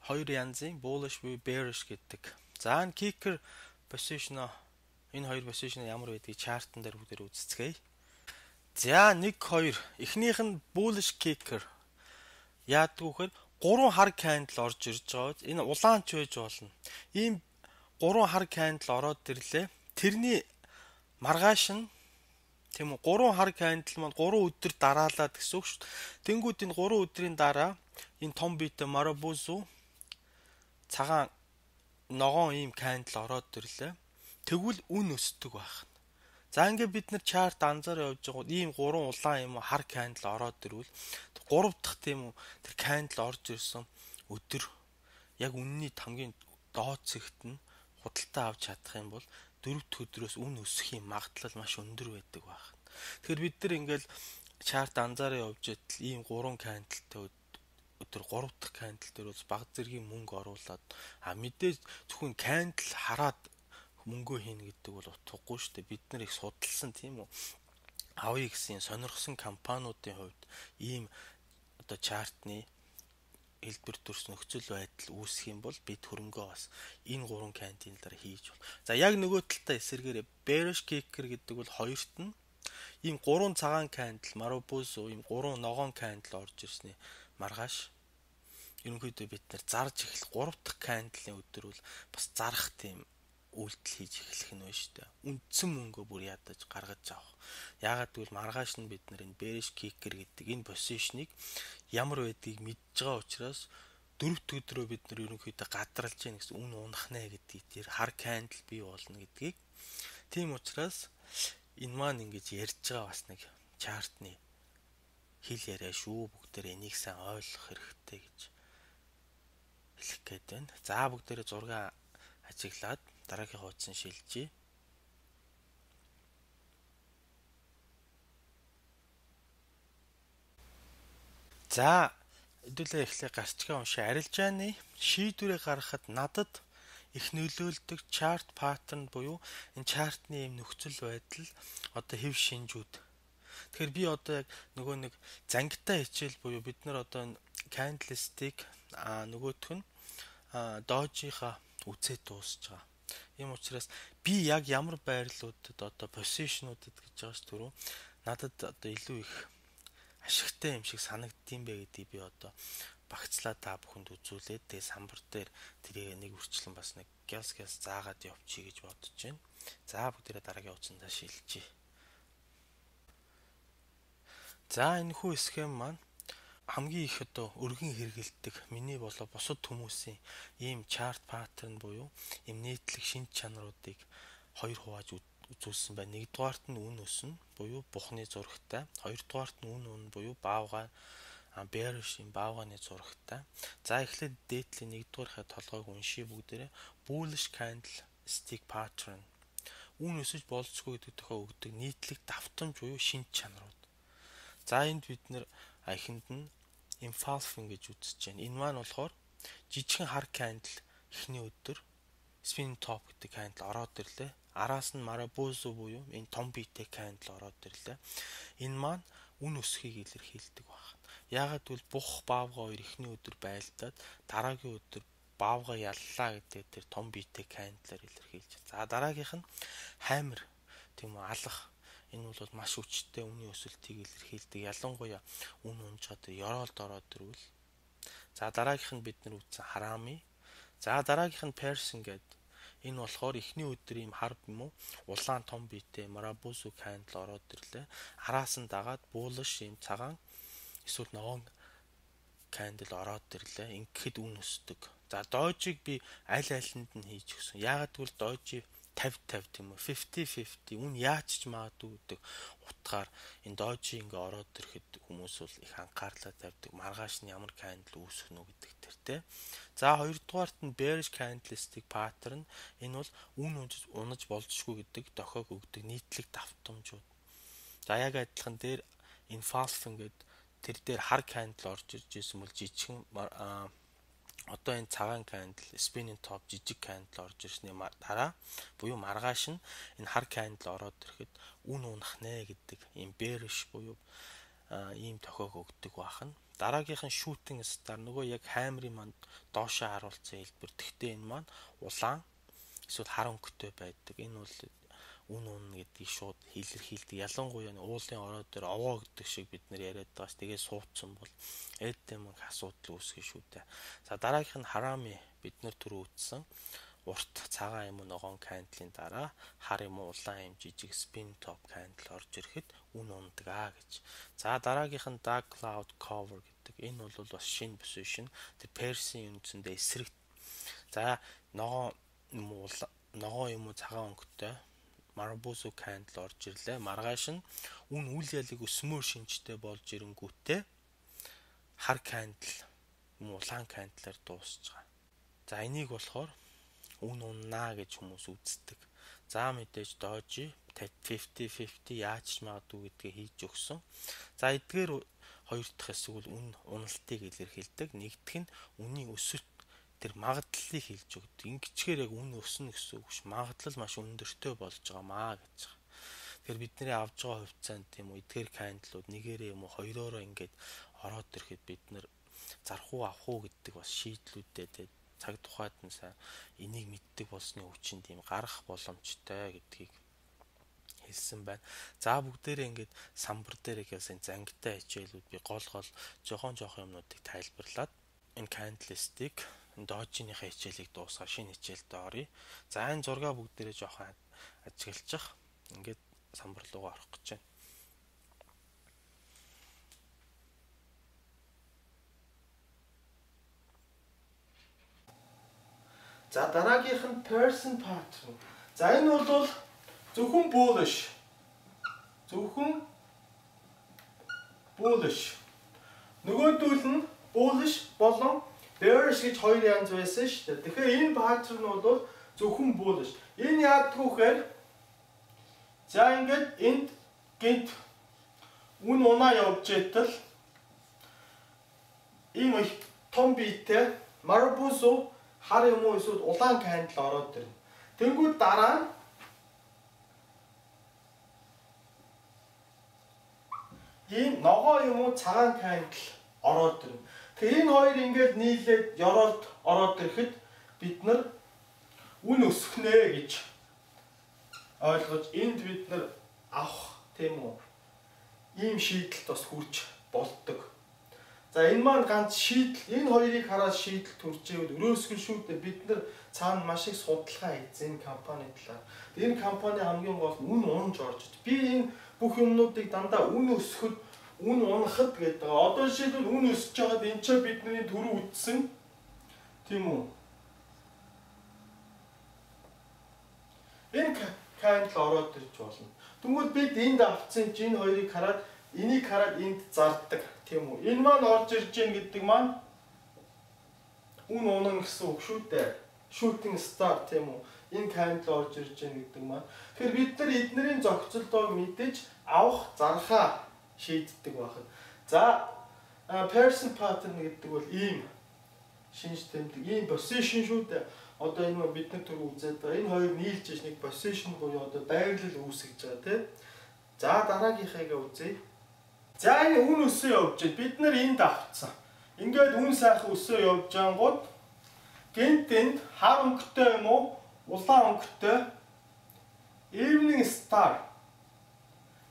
Хоёр янзын bullish буюу bearish гэдэг. За энэ kicker position энэ хоёр position ямар байдгийг чартан дээр бүгдээр үзцгээе. За 1 2 эхнийх нь bullish kicker. Яадаг вөхөр 3 хар candle орж ирж байгаа. Энэ улаанч байж болно. Ийм 3 хар candle ороод ирлээ. Тэрний маргааш нь тийм үү 3 хар candle маань 3 өдөр дараалаад гэсэн үг шүү дээ. Тэнгүүд энэ 3 өдрийн дараа энэ том биетэй Marubozu цагаан ногоон ийм candle ороод ирлээ. Тэгвэл үн өсдөг байх. За ингээд бид нар чарт анзаараа явж байгаа ийм 3 улаан юм хар candle ороод ирвэл 3 дахь тийм үү тэр candle орж ирсэн өдөр яг үнний хамгийн доод зэгт нь худалдаа авч чадах юм бол 4 дахь өдрөөс үн өсөхийн магадлал маш өндөр байдаг байна. Тэгэхээр бид нар ингээл чарт анзаараа явж идэл ийм 3 candleтэй өдөр 3 дахь candle дээр бол баг зэргийн мөнгө оруулаад мэдээж зөвхөн candle хараад мөнгөө хийнэ гэдэг бол утгагүй шүү дээ. Бид нар их судалсан тийм үү. Авъя гэсэн сонирхсан компаниудын хувьд ийм одоо чартны хэлбэр төрс нөхцөл байдал үүсэх юм бол бид хөрөнгөө бас энэ 3 candle-аар хийж бол. За яг нөгөө талдаа эсэргээрээ bearish kicker гэдэг бол хоёрт нь ийм 3 цагаан candle Marubozu ийм 3 ногоон candle орж ирсний маргааш ерөнхийдөө бид нар зарж эхлэх 3 дахь candle-ийн өдөр бол бас зарах тийм үйлдэл хийж эхлэх нь байна шүү дээ. Үндсэн мөнгөө бүр ядаж гаргаж авах. Яагаад гэвэл маргааш нь бид нар энэ bearish kicker гэдэг энэ position-ыг ямар байдгийг мэдж байгаа учраас 4 дахь өдрөө бид нар ерөнхийдөө гадралж яах гэсэн үн унах нэ гэдгийг тэр хар candle бий болно гэдгийг. Тийм учраас энэ маань ингэж ярьж байгаа бас нэг чартны хэл яриа шүү. Бүгдээр энийг сайн ойлгох хэрэгтэй гэж хэлэх гээд байна. За бүгдээрээ зураг ажиглаад дараагийн хуудсан шилжиж. За хэдүүлээ эхлээ гарчгаа уншаа. Арилжааны шийдвэрээ гаргахад надад их нөлөөлдөг чарт паттерн буюу энэ чартны юм нөхцөл байдал одоо хэв шинжүүд. Тэгэхээр би одоо яг нөгөө нэг зангитай хичээл буюу бид нар одоо candlestick нөгөөх нь дожийнхаа үзээ дуусж байгаа. Ийм учраас би яг ямар байрлалуудад одоо позишнуудад гэж байгаа ш түрүү надад одоо илүү их ашигтай юм шиг санагддсан бэ гэдгийг би одоо багцлаа та бүхэнд үзүүлээд тэгээ самбар дээр тэрийг нэг үрчлэн бас нэг гяс заагаад явчих гэж бодож байна. За бүгдээрээ дараагийн утсандаа шилжиж. За энэ хүү схем маань хамгийн их одоо өргөн хэрэгэлдэг миний болоо бусад хүмүүсийн ийм чарт паттерн буюу ийм нийтлэг шинж чанаруудыг хоёр хувааж үзүүлсэн байна. Нэгдүгээрт нь үн өснө буюу бухны зурагтай. Хоёрдугаарт нь үн буюу баавгай bearish-ийн баавгайны зурагтай. За эхлээд дээдлийн нэгдүгээрхээ толгойг уншия бүгдээрээ. Bullish candlestick pattern. Үн өсөж болцгүй гэдэг тохио өгдөг нийтлэг давтамж буюу шинж чанарууд. За энд бид нэр ахинд нь engulfing гэж үзэж байна. Энэ маань болохоор жижигхэн хар candle эхний өдөр spinning top гэдэг candle ороод ирлээ. Араас нь Marabozu буюу энэ том биетэй candle ороод ирлээ. Энэ маань үн өсөхийг илэрхийлдэг байна. Яагаад гэвэл бух баавга хоёр эхний өдөр байлдаад дараагийн өдөр баавга яллаа гэдэг тэр том биетэй candle-аар илэрхийлж. За дараагийнх нь hammer тийм үү алах. Энэ бол маш хүчтэй үнийн өсөлтийг илэрхийлдэг. Ялангуяа үн унжгаад ёроолд ороод ирвэл. За дараагийнх нь бид нар үзсэн харами. За дараагийнх нь Pearson гэдэг. Энэ болохоор эхний өдөр ийм хар юм уу улаан том биетэй Marabozu candle ороод ирлээ. Араас нь дагаад bullish ийм цагаан эсвэл ногоон candle ороод ирлээ. Ингээд үн өсдөг. За дожиг би аль алинд нь хийж өгсөн. Яагаад гэвэл дожи 50-50 тийм үү 50-50 үн яаж ч магадгүй гэдэг утгаар энэ дожи ингээ ороод ирэхэд хүмүүс бол их анхаарлаа тавьдаг. Маргааш нь ямар candle үүсэх нь гэдэг тэр тий. За хоёрдугаарт нь bearish candlestick pattern. Энэ бол үн унаж болзошгүй гэдэг дохиог өгдөг нийтлэг давтамжууд. За яг адилхан дээр engulfing гэдэг тэр дээр хар candle орж ирж байсан бол жижигхэн одоо энэ цагаан candle spinning top жижиг candle орж ирсний дараа буюу маргааш нь энэ хар candle ороод ирэхэд үн унах нэ гэдэг ийм bearish буюу ийм тохиог өгдөг бахан. Дараагийнх нь shooting star нөгөө яг hammer-ийн манд доошоо харуулсан хэлбэр. Тэгтээ энэ маань улаан эсвэл хар өнгөтэй байдаг. Энэ бол үн гэдгийг шууд илэрхийлдэг. Ялангуяа уулын ороод дээр овоо гэдэг шиг бид нэр яриад байгаас тэгээ суудсан бол эддэм асуудал үүсгэн шүү дээ. За дараагийнх нь харами бид нар түрүү үзсэн. Урт цагаан юм уу ногоон candle-ийн дараа хар юм уу улаан юм жижиг spin top candle орж ирэхэд үн ундаг гэж. За дараагийнх нь dark cloud cover гэдэг. Энэ бол бас шинэ position. Тэр Pearson үндсэндээ эсрэг. За ногоон юм уу цагаан өнгөтэй Marabozu candle орж ирлээ. Маргааш нь үн үл ялыг өсмөр шинжтэй болж ирэнгүүтээ хар candle юм улаан candle-аар дуусч байгаа. За энийг болохоор үн уннаа гэж хүмүүс үздэг. За мэдээж дожи 50-50 яаж ч магадгүй гэдгээ хийж өгсөн. За эдгээр хоёр дахь хэсэг бол үн уналтыг илэрхийлдэг. Нэгдүгээр нь үнийн өсөлт тэр магадлалыг хэлж өгдөг. Ингэчгээр яг үн өснө гэсэн үг ш. Магадлал маш өндөртэй болж байгаамаа гэж. Тэгэхээр бидний авж байгаа хувьцаанд тийм үү эдгээр candle-ууд нэгээрээ юм уу хоёроороо ингээд ороод ирэхэд бид нэр зарах уу авах уу гэдэг бас шийдлүүдтэй цаг тухайд нь сайн энийг мэддэг болсны хүчин тийм гарах боломжтой гэдгийг хэлсэн байна. За бүгдээрээ ингээд самбар дээр ихээс зангитай хичээлүүд би гол жохон юмнуудыг тайлбарлаад энэ candlestick дожиныхаа хичээлийг дуусгаа шинэ хичээлд оръё. За энэ зургаа бүгдээрээ жоохон ажиглчих. Ингээд самбар руу орох гэж байна. За дараагийнх нь Pearson pattern. За энэ бол зөвхөн bullish. Нөгөөдөл нь bullish болон bearish гэж хоёр янз байсан шүү дээ. Тэгэхээр энэ pattern бол зөвхөн bullish. Энэ яадаг вэхээр за ингээд энд гинт үн унаа явж итэл ийм их том биетэй Marabozu хар юм уу эсвэл улаан candle ороод ирнэ. Тэнгүүд дараа нь ийм ногоо юм уу цагаан candle ороод ирнэ. Тэгэхээр энэ хоёр ингээд нийлээд ёроолд ороод ирэхэд бид нар үн өсөх нэ гэж ойлгож энд бид нар авах тийм үү ийм шийдэлд бас хүрч болдог. За энэ маань ганц шийдэл энэ хоёрыг хараад шийдэл төржээвэл өрөөсгөл шүү дээ бид нар цаана маш их судалгаа хийсэн компани талаар. Энэ компани хамгийн гол нь үн унж орж би энэ бүх юмнуудыг дандаа үн өсөхөд үн унахад гэдэг. Одоо жишээлбэл үн өсөж байгаад энэ ч бидний түрүү үтсэн тийм үү. Энэ candle ороод ирж болно. Тэгвэл бид энд авцсан энэ хоёрыг хараад энийг хараад энд зардаг тийм үү? Энэ маань орж ирж гин гэдэг маань үн унан гэсэн үг шүү дээ. Shooting star тийм үү? Энэ candle орж ирж гин гэдэг маань. Тэгэхээр бид нар эднэрийн зохицолтойг мэдээж авах зархаа шийддэг байна. За person pattern гэдэг бол ийм шинж тэмдэг, ийм position шүү дээ. Одоо энэ бид нар түр үзээд байгаа. Энэ хоёр нийлж иж нэг position буюу одоо байрлал үүсгэж байгаа тийм. За дараагийнхыг үзье. За энэ үн өсөө явж байна. Бид нар энд авцсан. Ингээд үн сайхан өсөө явж ангууд гэнт энд хар өнгөтэй юм уу? Улаан өнгөтэй evening star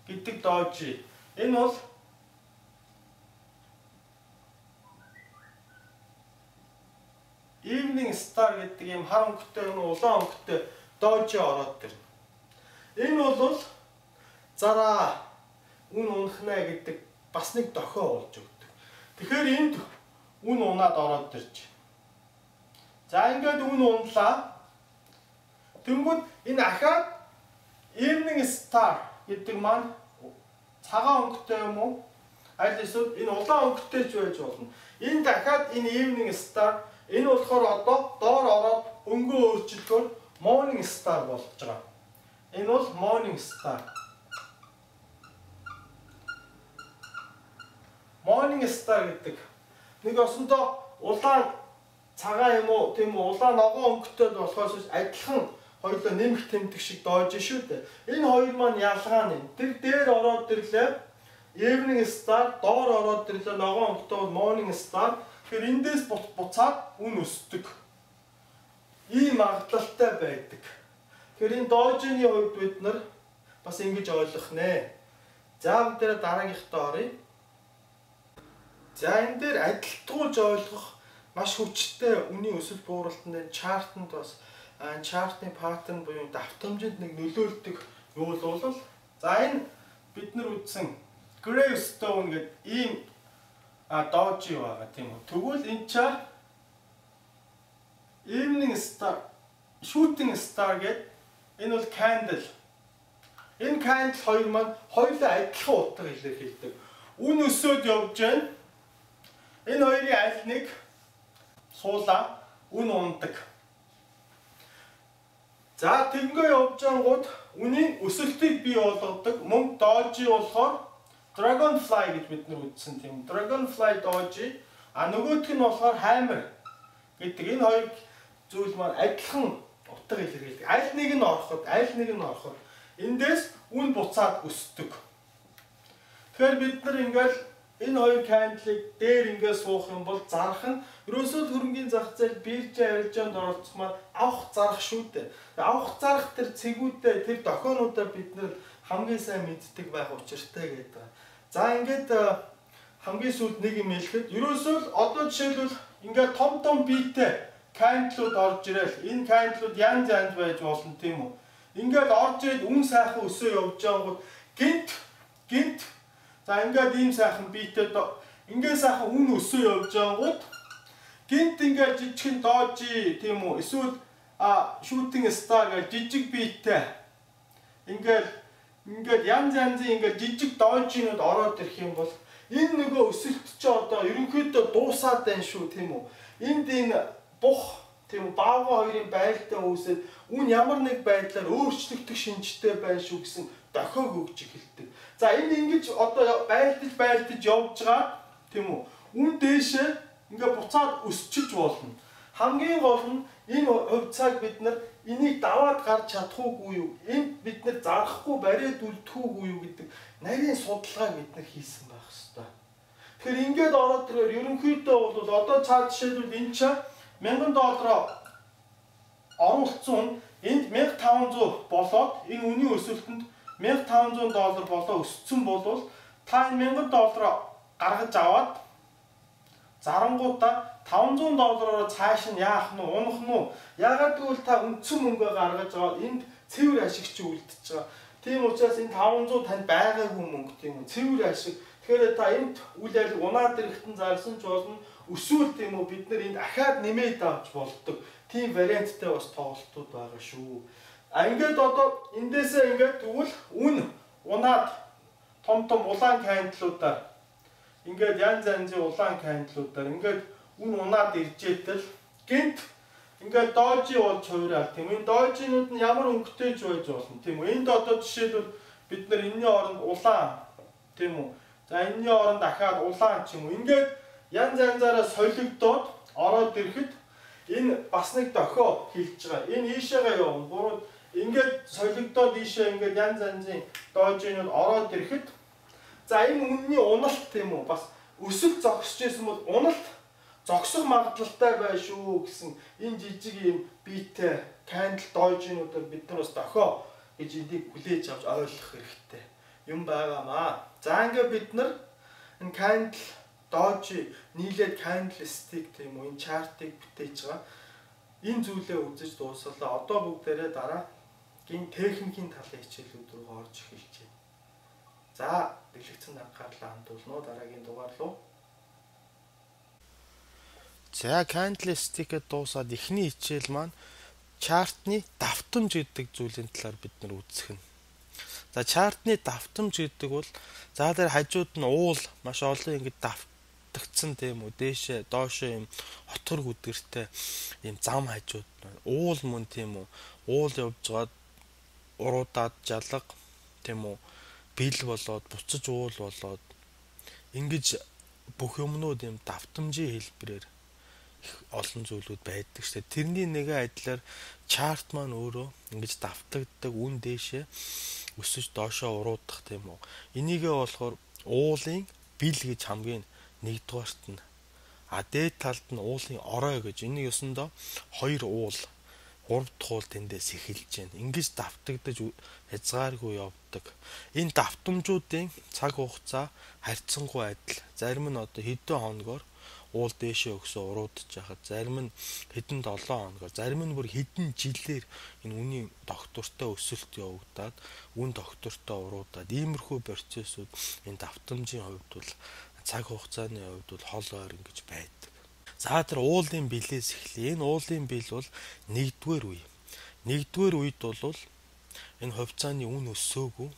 гэдэг дожи. Энэ бол evening star гэдэг юм хар өнгөтэй юм уу? Улаан өнгөтэй дожи ороод ирнэ. Энэ бол зараа үн унахна гэдэг бас нэг дохио болж өгдөг. Тэгэхээр энд үн унаад ороод ирж. За ингээд үн унлаа. Тэнгүүд энэ ахаад evening star гэдэг маань цагаан өнгөтэй юм уу? Аль эсвэл энэ улаан өнгөтэй ч байж болно. Энэ дахиад энэ evening star энэ болохоор одоо доор ороод өнгөө өөрчлөхөөр morning star болж байгаа. Энэ бол morning star. Morning star гэдэг нэг осондоо улаан цагаан юм уу тийм үү улаан ногоон өнгөтэй болохоос адилхан хоёулаа нэмэх тэмдэг шиг доож шүү дээ. Энэ хоёр маань ялгаа нь. Тэр дээр ороод ирлээ evening star, доор ороод ирлээ ногоон өнгөтэй бол morning star. Тэгэхээр эндээс буцаад үн өсдөг. Ийм магадлалтай байдаг. Тэгэхээр энэ доожны хувьд бид нар бас ингэж ойлгох нэ. За бид дараагийнхтаа оръё. За энэ дээр адилтгуулж ойлгох маш хүчтэй үнийн өсөлт бууралтанд чартанд бас чартын паттерн буюу давтамжинд нэг нөлөөлдөг юу бол за энэ бид нар үзсэн gravestone гэдэг ийм дожи байгаа тийм үү. Тэгвэл энэ ча evening star, shooting star гэдэг энэ бол candle. Энэ candle хоёр маань хоёулаа адилхан утга илэрхийлдэг. Үн өсөөд явж байна. Энэ хоёрын аль нэг суулаа үн ундаг. За тэнгөө явж ангууд үнийн өсөлтийг бий болгодог. Мөн дожи болохоор dragonfly гэж бид нар үзсэн тийм. Dragonfly дожи нөгөөх нь болохоор hammer гэдэг энэ хоёр зүйл маань адилхан утга илэрхийлдэг. Аль нэг нь ороход эндээс үн буцаад өсдөг. Тэгэхээр бид нар ингээл энэ хоёр candle-ыг дээр ингээд суух юм бол зарах нь ерөөсөө хөрөнгөний зах зээл биржийн арилжаанд оролцох маань авах зарах шүү дээ. Авах зарах тэр цэгүүдээ тэр дохионуудаа бид нар хамгийн сайн мэддэг байх учиртай гэдэг. За ингээд хамгийн сүүлд нэг юм хэлэхэд ерөөсөө одоо жишээлбэл ингээд том биетэй candle-ууд орж ирэл энэ candle-ууд янз янз байж болно тийм үү. Ингээд орж ирээд үн сайхан өсөө явж байгаа гинт за ингээд ийм сайхан биетэй ингээд сайхан үн өсөө явж байгаангууд гинт ингээд жижигхэн дожи тийм үү эсвэл shooting star гэж жижиг биетэй ингээд янз янзын ингээд жижиг дожинууд ороод ирэх юм бол энэ нөгөө өсөлт чи одоо ерөнхийдөө дуусаад байна шүү тийм үү. Энд энэ бух тийм үү баавга хоёрын байлдаа үүсээд үн ямар нэг байдлаар өөрчлөгдөх шинжтэй байна шүү гэсэн дохиог өгч эхэлдэг. За энэ ингэж одоо байлдаж явж байгаа тийм үү. Үн дээшээ ингээ буцаад өсчиж болно. Хамгийн гол нь энэ хувьцааг бид нар энийг даваад гарч чадахгүй юу? Энд бид нар зарахгүй бариад үлдэхгүй юу гэдэг нарийн судалгааг бид нар хийсэн байх ёстой. Тэгэхээр ингээд ороод ирээр ерөнхийдөө бол одоо цаад жишээлбэл энэ ч $1000 оруулсан энд 1500 болоод энэ үнийн өсөлтөнд $1500 болоо өссөн бол та энэ $1000 гаргаж аваад зарангуудаа $500-оор цааш нь яах нь унах нь ягаад гэвэл та үндсэн мөнгөө гаргаж аваад энд цэвэр ашигч үлдчихэж байгаа. Тийм учраас энэ 500 танд байгаагүй мөнгө тийм үү цэвэр ашиг. Тэгэхээр та энд үйл ажиллагаа унаад ирэхтэн зарсан ч болно өсвөл тийм үү бид нар энд ахаад нэмээд авч болдог. Тийм варианттай бас тоглолтууд байгаа шүү. Ингээд одоо эндээсээ ингээд тэгвэл унаад том улаан кандилуудаар ингээд янз янзын улаан кандилуудаар ингээд унаад иржээтэл гинт ингээд дожи болж хуурал тийм. Энэ дожинууд нь ямар өнгөтэй ч байж болно тийм үү. Энд одоо жишээлбэл бид нар энэний оронд улаан тийм үү. За энэний оронд дахиад улаан ч юм уу. Ингээд янз янзаараа солигдоод ороод ирэхэд энэ бас нэг дохио хилж байгаа. Энэ ийшээгээ явна. Буруу ингээд солигдоод ийшээ ингээд янз янзын дожинууд ороод ирэхэд за энэ үнний уналт тийм үү. Бас өсөлт зогсож байсан бол уналт зогсох магадлалтай бай шүү гэсэн энэ жижиг юм биетэй кандл дожинуудаар бид нар бас дохио гэж энийг хүлээж авч ойлгох хэрэгтэй юм байгаамаа. За ингээд бид нар энэ кандл дожи нийлээд кандл-стик тийм үү энэ чартыг бүтээж байгаа. Энэ зүйлээ үзэж дуусгалаа. Одоо бүгдээрээ дараагийн техникийн талын хичээлүүд рүү орж эхэлж байна. За, дэлгэцэн анхаарлаа хандуулно дараагийн дугаар руу. За, candlestick-д дуусаад эхний хичээл маань чартны давтамж гэдэг зүйлийн талаар бид нар үзэх нь. За, чартны давтамж гэдэг бол за дээр хажууд нь уул маш олон ингэж давтагдсан тийм үү дээшээ доошоо юм хотгор гүдгэртэй юм зам хажууд уул мөн тийм үү уул явж гаад уруудаад жалга тийм үү бил болоод буцаж уул болоод ингэж бүх юмнууд юм давтамжийн хэлбэрээр их олон зүйлүүд байдаг шүү дээ. Тэрний нэгэн адилаар чарт маань өөрөө ингэж давтагддаг үн дээшээ өсөж доошоо уруудах тийм үү. Энийгээ болохоор уулын бил гэж хамгийн нэгдүгээрт нь дээд талд нь уулын орой гэж энийг ёсондоо хоёр уул 3 дахь уул тэндээс эхэлж байна. Ингэж давтагдаж хязгааргүй явдаг. Энэ давтамжуудын цаг хугацаа харьцангуй адил. Зарим нь одоо хэдэн хоногор уул дээшээ өгсөө уруудаж яхад, зарим нь хэдэн 7 хоногор, зарим нь бүр хэдэн жилээр энэ үнийн доктортой өсөлт явагдаад, үн доктортой уруудаад иймэрхүү процессыг энэ давтамжийн хувьд бол цаг хугацааны хувьд бол хол ойр ингэж байдаг. За тэр уулын билээс эхлэе. Энэ уулын бил бол нэгдүгээр үе. Нэгдүгээр үед бол энэ хувьцааны үн өссөөгүй.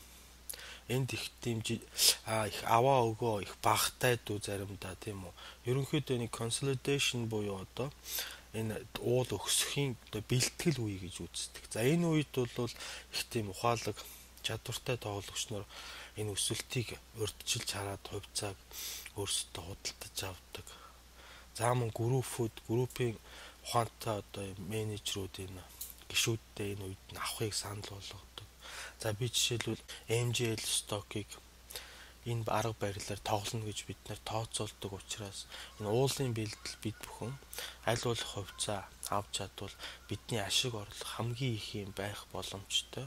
Энд их тийм их аваа өгөө их багтай дүү заримдаа тийм үү. Ерөнхийдөө нэг consolidation буюу одоо энэ уул өсөхийн одоо бэлтгэл үе гэж үздэг. За энэ үед бол их тийм ухаалаг чадвартай тоглогч нар энэ өсөлтийг урьдчилж хараад хувьцааг өөрсдөө худалдаж авдаг. За мөн группийн ухаантай одоо менежерүүд энэ гишүүдтэй энэ үед нь авахыг санал болгодог. За би жишээлбэл MGL stock-ыг энэ арга барилаар тоглоно гэж бид нэр тооцоолдог учраас энэ уулын бэлдэл бид бүхэн аль болох хувьцаа авч чадвал бидний ашиг орлого хамгийн их юм байх боломжтой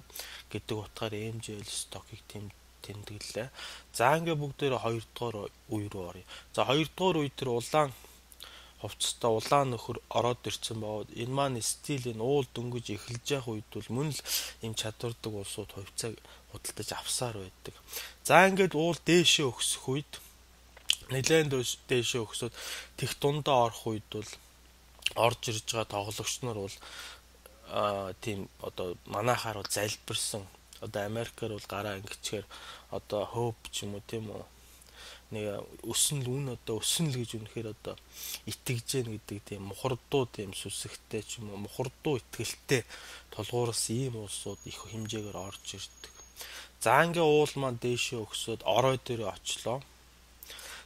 гэдэг утгаар MGL stock-ыг тэмдэглэлээ. За ингээ бүгдээрээ 2 дугаар үе рүү оръё. За 2 дугаар үе дээр улаан хувцастай улаан нөхөр ороод ирсэн бод энэ маань стил энэ уул дөнгөж эхэлж явах үед бол мөн л юм чадвардаг улсууд хувьцааг худалдаж авсаар байдаг. За ингээд уул дээшээ өсөх үед нэлээд дээшээ өсөд тех дундаа орох үед бол орж ирж байгаа тоглогч нар бол тийм одоо манайхаар бол залбирсан одоо Америкаар бол гараа ингэчээр одоо hope ч юм уу тийм үү нэг өснөл үн одоо өснөл гэж үнэхээр одоо итгэж гэн гэдэг тийм мухардуу тийм сүсэгтэй ч юм уу мухардуу итгэлтэй тулгуурласан ийм улсууд их хэмжээгээр орж ирдэг. За ингээ уул маань дээшээ өгсөд орой дээр очлоо.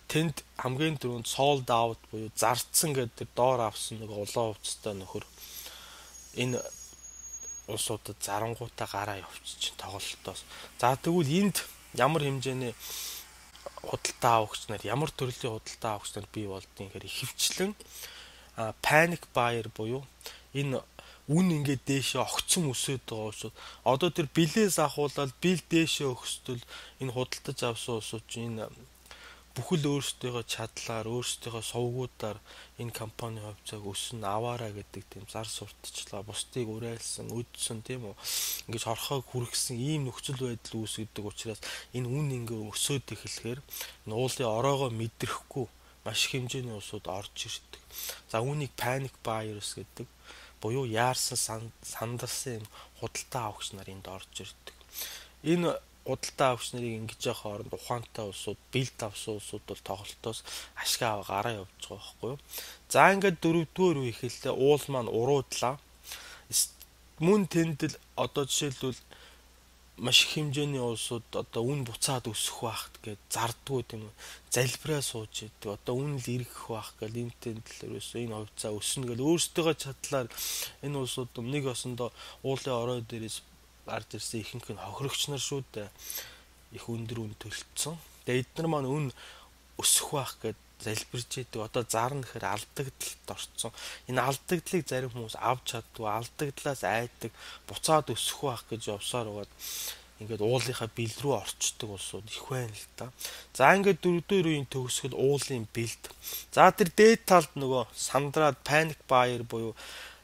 Тэнд хамгийн түрүүнд sold out буюу зарцсан гэдэг доор авсан нэг улаан хувцастай нөхөр энэ улсуудад зарангуутаа гараа явчих тоглолтоос. За тэгвэл энд ямар хэмжээний худалдаа авагч нар ямар төрлийн худалдаа авагч нар бий болдгийг гэхээр ихэвчлэн panic buyer буюу энэ үн ингээд дээшээ огцом өсөд байгаа улсууд одоо тэр билээс ахуулаад бил дээшээ өгсдөл энэ худалдаж авсан улсууд энэ бүхэл өөрсдийнхөө чадлаар өөрсдийнхөө сувгуудаар энэ компани хувьцааг өснө аваараа гэдэг тийм зар сурталчлаа бусдыг уриалсан үдсэн тийм үү ингэж хорхойг хүргэсэн ийм нөхцөл байдал үүсгэдэг учраас энэ үн ингээ өсөд эхлэхээр энэ уулын ороогоо мэдрэхгүй маш их хэмжээний улсууд орж ирдэг. За үүнийг panic buyers гэдэг. буюу яарсан сандарсан худалдаа авагч нар энд орж ирдэг. Энэ худалдаа авагч нарыг ингэж явах хооронд ухаантай улсууд, бэлд авсан улсууд бол тоглолтоос ашиг аваа гараа явж байгаа байхгүй юу. За ингээд 4-р үе ихэллээ уул маань уруудлаа. Мөн тэнд л одоо жишээлбэл маш их хэмжээний улсууд одоо үн буцаад өсөх байхт гэж зардггүй тийм үү. Залбираа сууж идэг. Одоо үн л ирэх байх гэж лимтэн төлөөс энэ хувьцаа өснө гэж өөрсдөө чадлаар энэ улсууд нэг осондоо уулын орой дээрээс ард ирсэн ихэнх нь хохирогч нар шүү дээ. Их өндөр үн төлцсөн. Тэгээ эдгээр маань үн өсөх байх гэж залбирч идэг. Одоо зарна гэхээр алдагдлалд орцсон. Энэ алдагдлыг зарим хүмүүс авч чаддгүй, алдагдлаас айдаг, буцаад өсөх байх гэж явсаар байгаад ингээд уулынхаа бэлд рүү орчдөг улсууд их байна л да. За ингээд 4-р үеийн төгсгөл уулын бэлд. За тэр дээд талд нөгөө сандраад panic buyer буюу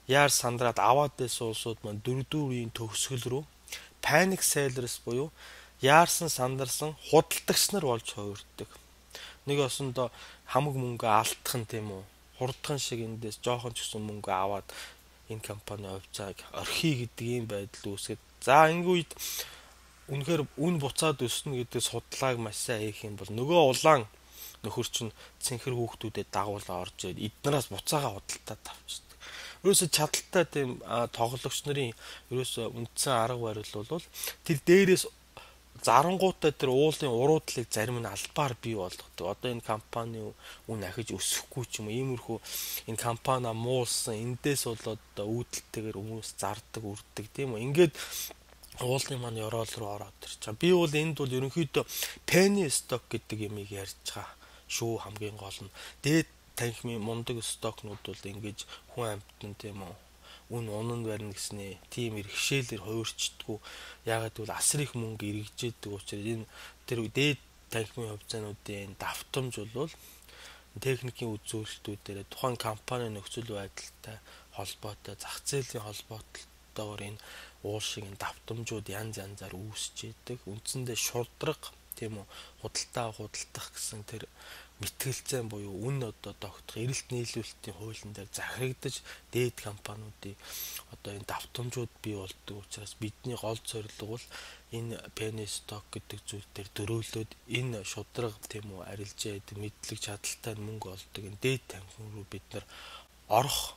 яар сандраад аваад байсан улсууд маань 4-р үеийн төгсгөл рүү panic sellers буюу яарсан сандарсан худалдагч нар болж хувирдаг. Нэг осондоо хамаг мөнгө алдах нь тийм үү. Хурдхан шиг эндээс жоохон ч гэсэн мөнгө аваад энэ компани хувьцааг орхий гэдэг юм байдал үүсгээд. За энэ үед үнэхээр үн буцаад өснө гэдэг судлааг маш сайн хийх юм бол нөгөө улаан нөхөр чинь цэнхэр хүүхдүүдэд дагуулаа орж ирээд эднээс буцаага худалдаад авчдаг. Ерөөсө чадaltaй тийм тоглогч нарын ерөөсө үндсэн арга барил бол тэр дээрээс зарангуудтай тэр уулын уруудлыг зарим нь албаар бий болгодог. Одоо энэ компани үн ахиж өсөхгүй ч юм уу иймэрхүү энэ компани муулсан эндээс бол одоо үүдэлтэйгээр хүмүүс зардаг, үрдэг тийм үү. Ингээд уулын маань ёроол руу ороод ирчихэ. Би бол энд бол ерөнхийдөө penny stock гэдэг юмыг ярьж байгаа шүү хамгийн гол нь. Дээд танхимын мундаг стокнууд бол ингэж хүн амьтан тийм үү үн унан барина гэснээ тийм иргэшээлэр хуурчдаггүй. Яагаад гэвэл асар их мөнгө эргэжээдэг учраас энэ тэр дээд танхимын хувьцаануудын давтамж бол техникийн үзүүлэлтүүдээр тухайн компани нөхцөл байдалтай холбоотой зах зээлийн холбоотойгоор энэ уул шиг давтамжууд янз янзаар үүсэж идэг. Үндсэндээ шудраг тийм үү худалдах гэсэн тэр мэтгэлцэн буюу үн одоо тогтох эрэлт нийлүүлэлтийн хуулийн дээр захирагдаж дээд компаниудын одоо энэ давтамжууд бий болдог учраас бидний гол зорилго бол энэ penny stock гэдэг зүйл дээр дөрөөлөөд энэ шудраг тийм үү арилжаа гэдэг мэдлэг чадaltaй мөнгө олдог энэ дээд танхим руу бид нар орох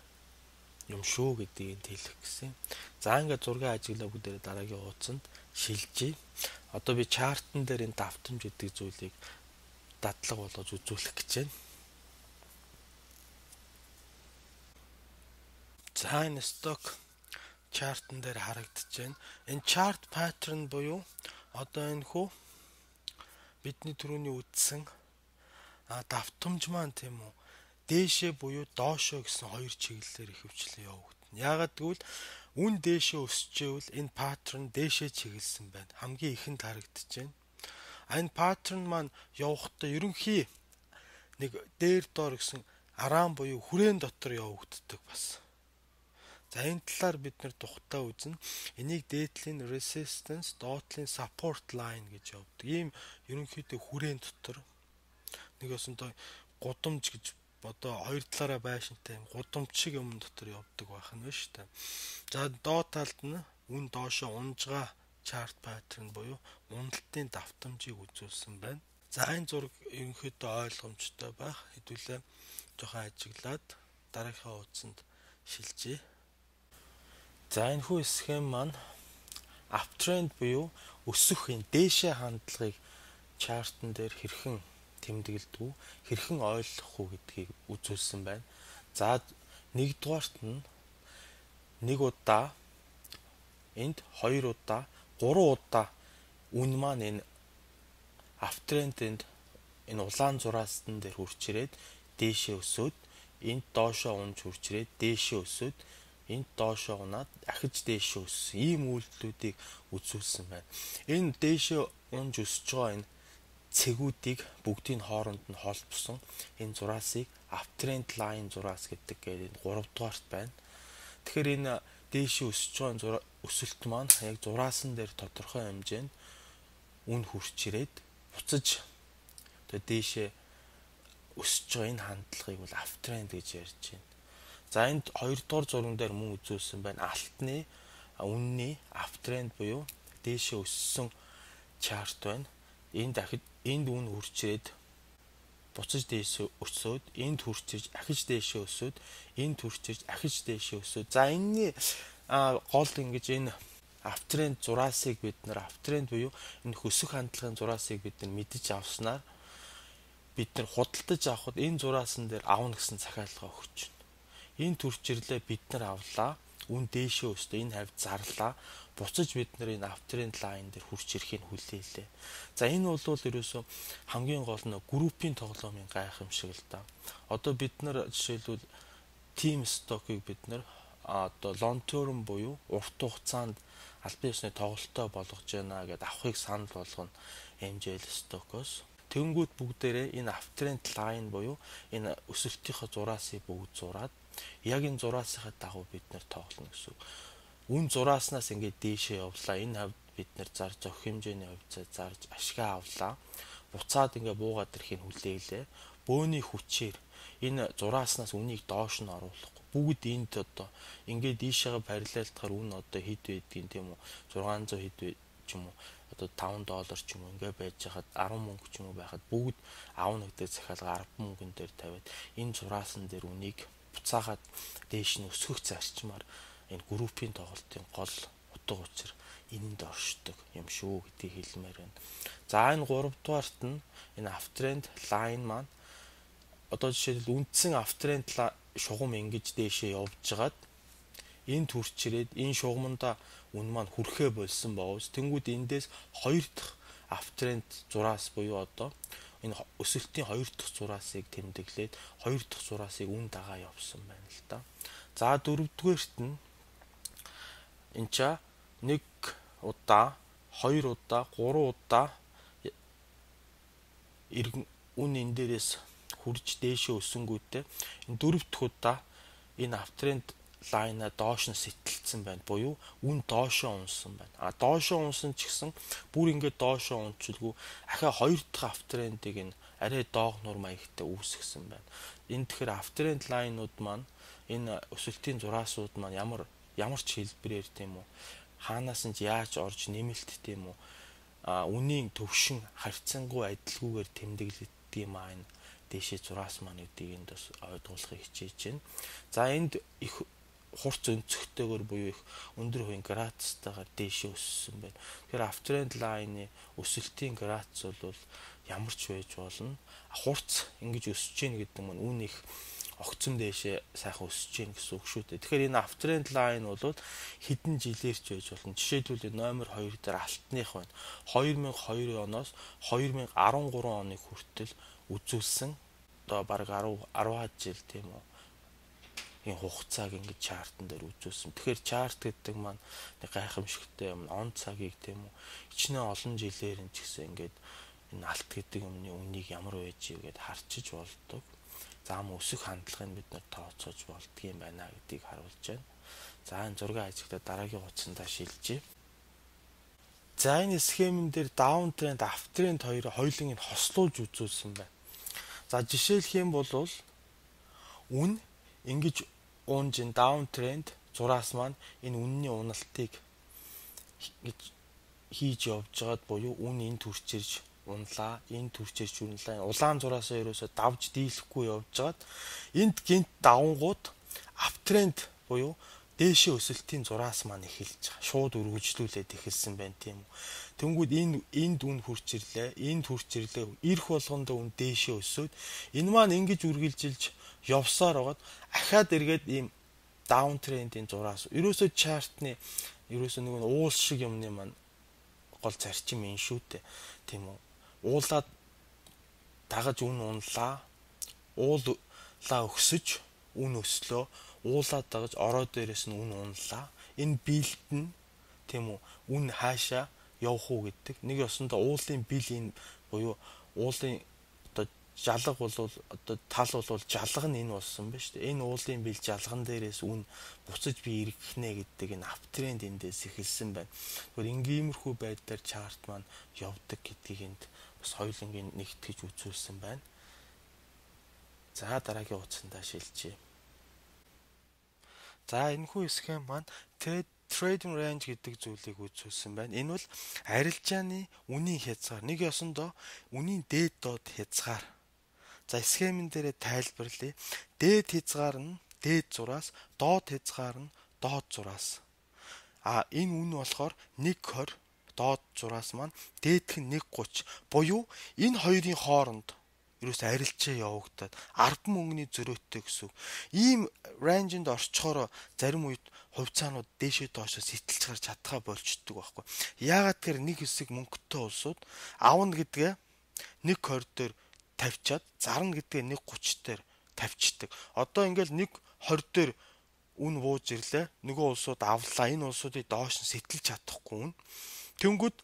юм шүү гэдгийг хэлэх гэсэн. За ингээд зургийн ажиглаа бүгдээ дараагийн хуудсанд шилжиж. Одоо би чартн дээр энэ давтамж гэдэг зүйлийг дадлага болгож үзүүлэх гэж байна. За энэ stock chart-н дээр харагдаж байна. Энэ chart pattern буюу одоо энэ хүү бидний түрүүний үзсэн давтамж маань тийм үү дээшээ буюу доошоо гэсэн хоёр чиглэлээр ихэвчлэн явагдана. Яагаад гэвэл үн дээшээ өсчихвэл энэ pattern дээшээ чиглэсэн байна. Хамгийн ихэнд харагдаж байна. Энэ pattern маань явахдаа ерөнхий нэг дээр доор гэсэн араан буюу хүрээн дотор явагддаг бас. За энэ талаар бид нэр тухтай үзнэ. Энийг дээдлийн resistance, доотлын support line гэж явдаг. Ийм ерөнхийдөө хүрээн дотор нэг өсөнтэй гудамж гэж одоо хоёр талаараа байшинтай гудамж шиг юм дотор явдаг байх нь шүү дээ. За доод талд нь үн доошоо унжгаа chart pattern буюу уналтын давтамжийг үзүүлсэн байна. За энэ зураг ерөнхийдөө ойлгомжтой байх. Хэдүүлээ жоохон ажиглаад дараагийн хуудсанд шилжье. За энэ хүү схем маань uptrend буюу өсөх энэ дээшээ хандлагыг chart-н дээр хэрхэн тэмдэглэдэг, хэрхэн ойлгох уу гэдгийг үзүүлсэн байна. За нэгдүгээрт нь нэг удаа энд хоёр удаа 3 удаа үн маань энэ uptrend-д энэ улаан зураастан дээр хурж ирээд дээшээ өсөөд энд доошоо унж хурж ирээд дээшээ өсөөд энд доошоо унаад ахиж дээшээ өссөн ийм үйлдэлүүдийг үзүүлсэн байна. Энэ дээшээ унж өсөж байгаа энэ цэгүүдийг бүгдийн хооронд нь холбосон энэ зураасыг uptrend line зураас гэдэг гээд 3 дугаарт байна. Тэгэхээр энэ дээшээ өсөж байгаа өсөлт маань яг зураасан дээр тодорхой хэмжээнд үн хурж ирээд буцаж тэгээ дээшээ өсөж байгаа энэ хандлагыг бол uptrend гэж ярьж байна. За энд 2 дугаар зурган дээр мөн үзүүлсэн байна. Алтны үнний аптренд буюу дээшээ өссөн чарт байна. Энд үн хурцрээд буцаж дээшээ өсөөд, энд хурцэрж ахиж дээшээ өсөөд, энд хурцэрж ахиж дээшээ өсөөд. За энэний гол ингэж энэ аптренд зураасыг бид нар аптренд буюу энэ хөсөх хандлагын зураасыг бид нар мэдэж авснаар бид нар худалдаж авахд энэ зураасан дээр авна гэсэн захиалга өгч байна. Энэ төрчрлээ бид нар авлаа, үн дээшээ өстө, энэ хавьд зарлаа, буцаж бид нар энэ аптренд лайн дээр хурц ирэхийг хүлээлээ. За энэ бол ерөөсөө хамгийн гол нь группийн тоглоомын гайхамшиг л да. Одоо бид нар жишээлбэл team stock-ыг бид нар одоо long term буюу урт хугацаанд албан ёсны тоглолтоо болгож байна гэдээ авахыг санал болгоно MJL stock-оос. Тэнгүүд бүгдээрээ энэ аптренд лайн буюу энэ өсөлтийнхөө зураасыг бүгд зураад яг энэ зураасынхаа дагуу бид нар тоглоно гэсэн. Үн зурааснаас ингээд дээшээ явлаа. Энэ хавьд бид нар зарж авах хэмжээний хувьцаа зарж ашгаа авлаа. Буцаад ингээд буугаад ирэхийг хүлээлээ. Бөөний хүчээр энэ зурааснаас үнийг доош нь оруулахгүй. Бүгд энд одоо ингээд ийшээгээ параллелтахаар үн одоо хэд байдгийг тийм үү? 600 хэд вэ ч юм уу? Одоо $5 ч юм уу ингээ байж хахад 10 мөнгө ч юм уу байхад бүгд аавна гэдэг захиалга 10 мөнгөн дээр тавиад энэ зураасан дээр үнийг буцаагаад дээш нь өсгөх зарчмаар энэ группийн тоглолтын гол утга учир энэнд оршдог юм шүү гэдгийг хэлмээр байна. За энэ 3 дугаарт нь энэ аптренд лайн маань одоо жишээлбэл үндсэн аптренд шугам ингэж дээшээ явжгаад энэ төрчрээд энэ шугамнда үн маань хүрхээ болсон боовс тэнгууд эндээс 2 дахь аптренд зураас буюу одоо энэ өсөлтийн 2 дахь зураасыг тэмдэглээд 2 дахь зураасыг үн дагаа явсан байна л да. За 4 дугаарт нь энэ ча 1 удаа 2 удаа 3 удаа үн энэ дээрээс хурж дээшээ өсөнгүүтээ энэ 4 дахь удаа энэ аптренд лайна доош нь сэтэлцсэн байна. Буюу үн доошоо унсан байна. Доошоо унсан ч гэсэн бүр ингээд доошоо унчилгүй ахаа 2 дахь аптрэндыг энэ арай доогнуур маягтай үүсгэсэн байна. Энэ тэгэхээр аптрэнд лайнууд маань энэ өсөлтийн зураасууд маань ямар ч хэлбэрээр тийм үү хаанаас нь яаж орж нэмэлт тийм үү үнийн төвшин харьцангуй адилгүйгээр тэмдэглэдэг юм аа энэ дээшээ зураас маань гэдгийг энд бас ойлгуулахыг хичээж байна. За энд их хурц өнцөгтэйгээр буюу их өндөр хувийн градустайгаар дээшээ өссөн байна. Тэгэхээр аптренд лайны өсөлтийн градус бол ямар ч байж болно. Хурц ингэж өсөж гин гэдэг нь үн их огцом дээшээ сайхан өсөж гин гэсэн үг шүү дээ. Тэгэхээр энэ аптренд лайн бол хэдэн жилээрч байж болно. Жишээлбэл номер 2 дээр алтных байна. 2002 оноос 2013 оны хүртэл үзүүлсэн одоо бараг 10 жил тийм үү энэ хугацааг ингэж чартан дээр үзүүлсэн. Тэгэхээр чарт гэдэг маань нэг гайхамшигтай юм. Он цагийг тийм үү хичнээн олон жилээр энэ ч гэсэн ингэж энэ алт гэдэг юмны үнийг ямар байж игээд харчиж болдог. За ам өсөх хандлагыг бид нар тооцоож болдгийм байна гэдгийг харуулж байна. За энэ зургийн ажиглаа дараагийн утсандаа шилжье. За энэ схемэн дээр даун тренд, ап тренд хоёулын нь хослуулж үзүүлсэн байна. За жишээлх юм бол үн ингэж уунжин даун тренд зураас маань энэ үнний уналтыг ингэж хийж явж байгаад буюу үн энэ төрчирж унлаа, энэ төрчирж унлаа. Улаан зураасаа ерөөсө давж дийлэхгүй явж байгаад энд гинт давангууд ап тренд буюу дээшээ өсөлтийн зураас маань эхэлж байгаа. Шууд үргэлжлүүлээд эхэлсэн байна тийм үү. Тэнгүүд энд үн хурцирлээ, энд хурцирлээ. Ирэх болгондоо үн дээшээ өсөөд энэ маань ингэж үргэлжилж явсаар байгаад ахаад эргээд ийм даун трендийн зураас ерөөсөө чартны ерөөсөө нэг уул шиг юмны маань гол зарчим юм шүү дээ. Тийм үү. Уулаад дагаж үн унлаа. Уулаа өксөж үн өслөө. Уулаад дагаж ороо дээрээс нь үн унлаа. Энэ биелт нь тийм үү үн хаашаа явах уу гэдэг. Нэг ёсондоо уулын бил энэ буюу уулын одоо жалга бол одоо тал бол жалга нь энэ болсон ба шүү дээ. Энэ уулын бил жалган дээрээс үн буцаж би иргэнэ гэдэг энэ ап тренд эндээс эхэлсэн байна. Тэгэхээр ингиймэрхүү байдлаар чарт маань явдаг гэдгийг энд бас хоёулангийн нэгтгэж үзүүлсэн байна. За дараагийн утсандаа шилжье. За энэхүү схем маань trading range гэдэг зүйлийг үзүүлсэн байна. Энэ бол арилжааны үнийн хязгаар, нэг ёсондоо үнийн дээд доод хязгаар. За схемэн дээрээ тайлбарлая. Дээд хязгаар нь дээд зураас, доод хязгаар нь доод зураас. Энэ үн болохоор 1.20, доод зураас маань дээдх нь 1.30. Буюу энэ хоёрын хооронд ерөөс арилжаа явагдаад 10 мөнгөний зөрөөтэй гэсэн. Ийм range-нд орчхоор зарим үед хувьцаанууд дээшээ доошоо сэтэлж гарч чадхаа болчдөг байхгүй. Яагаад гэхээр нэг хэсэг мөнгөтэй улсууд авна гэдгээ 1.20 дээр тавьчаад зарна гэдгээ 1.30 дээр тавьчдаг. Одоо ингээл 1.20 дээр үн бууж ирлээ. Нөгөө улсууд авлаа. Энэ улсуудыг доош нь сэтэлж чадахгүй. Тэнгүүд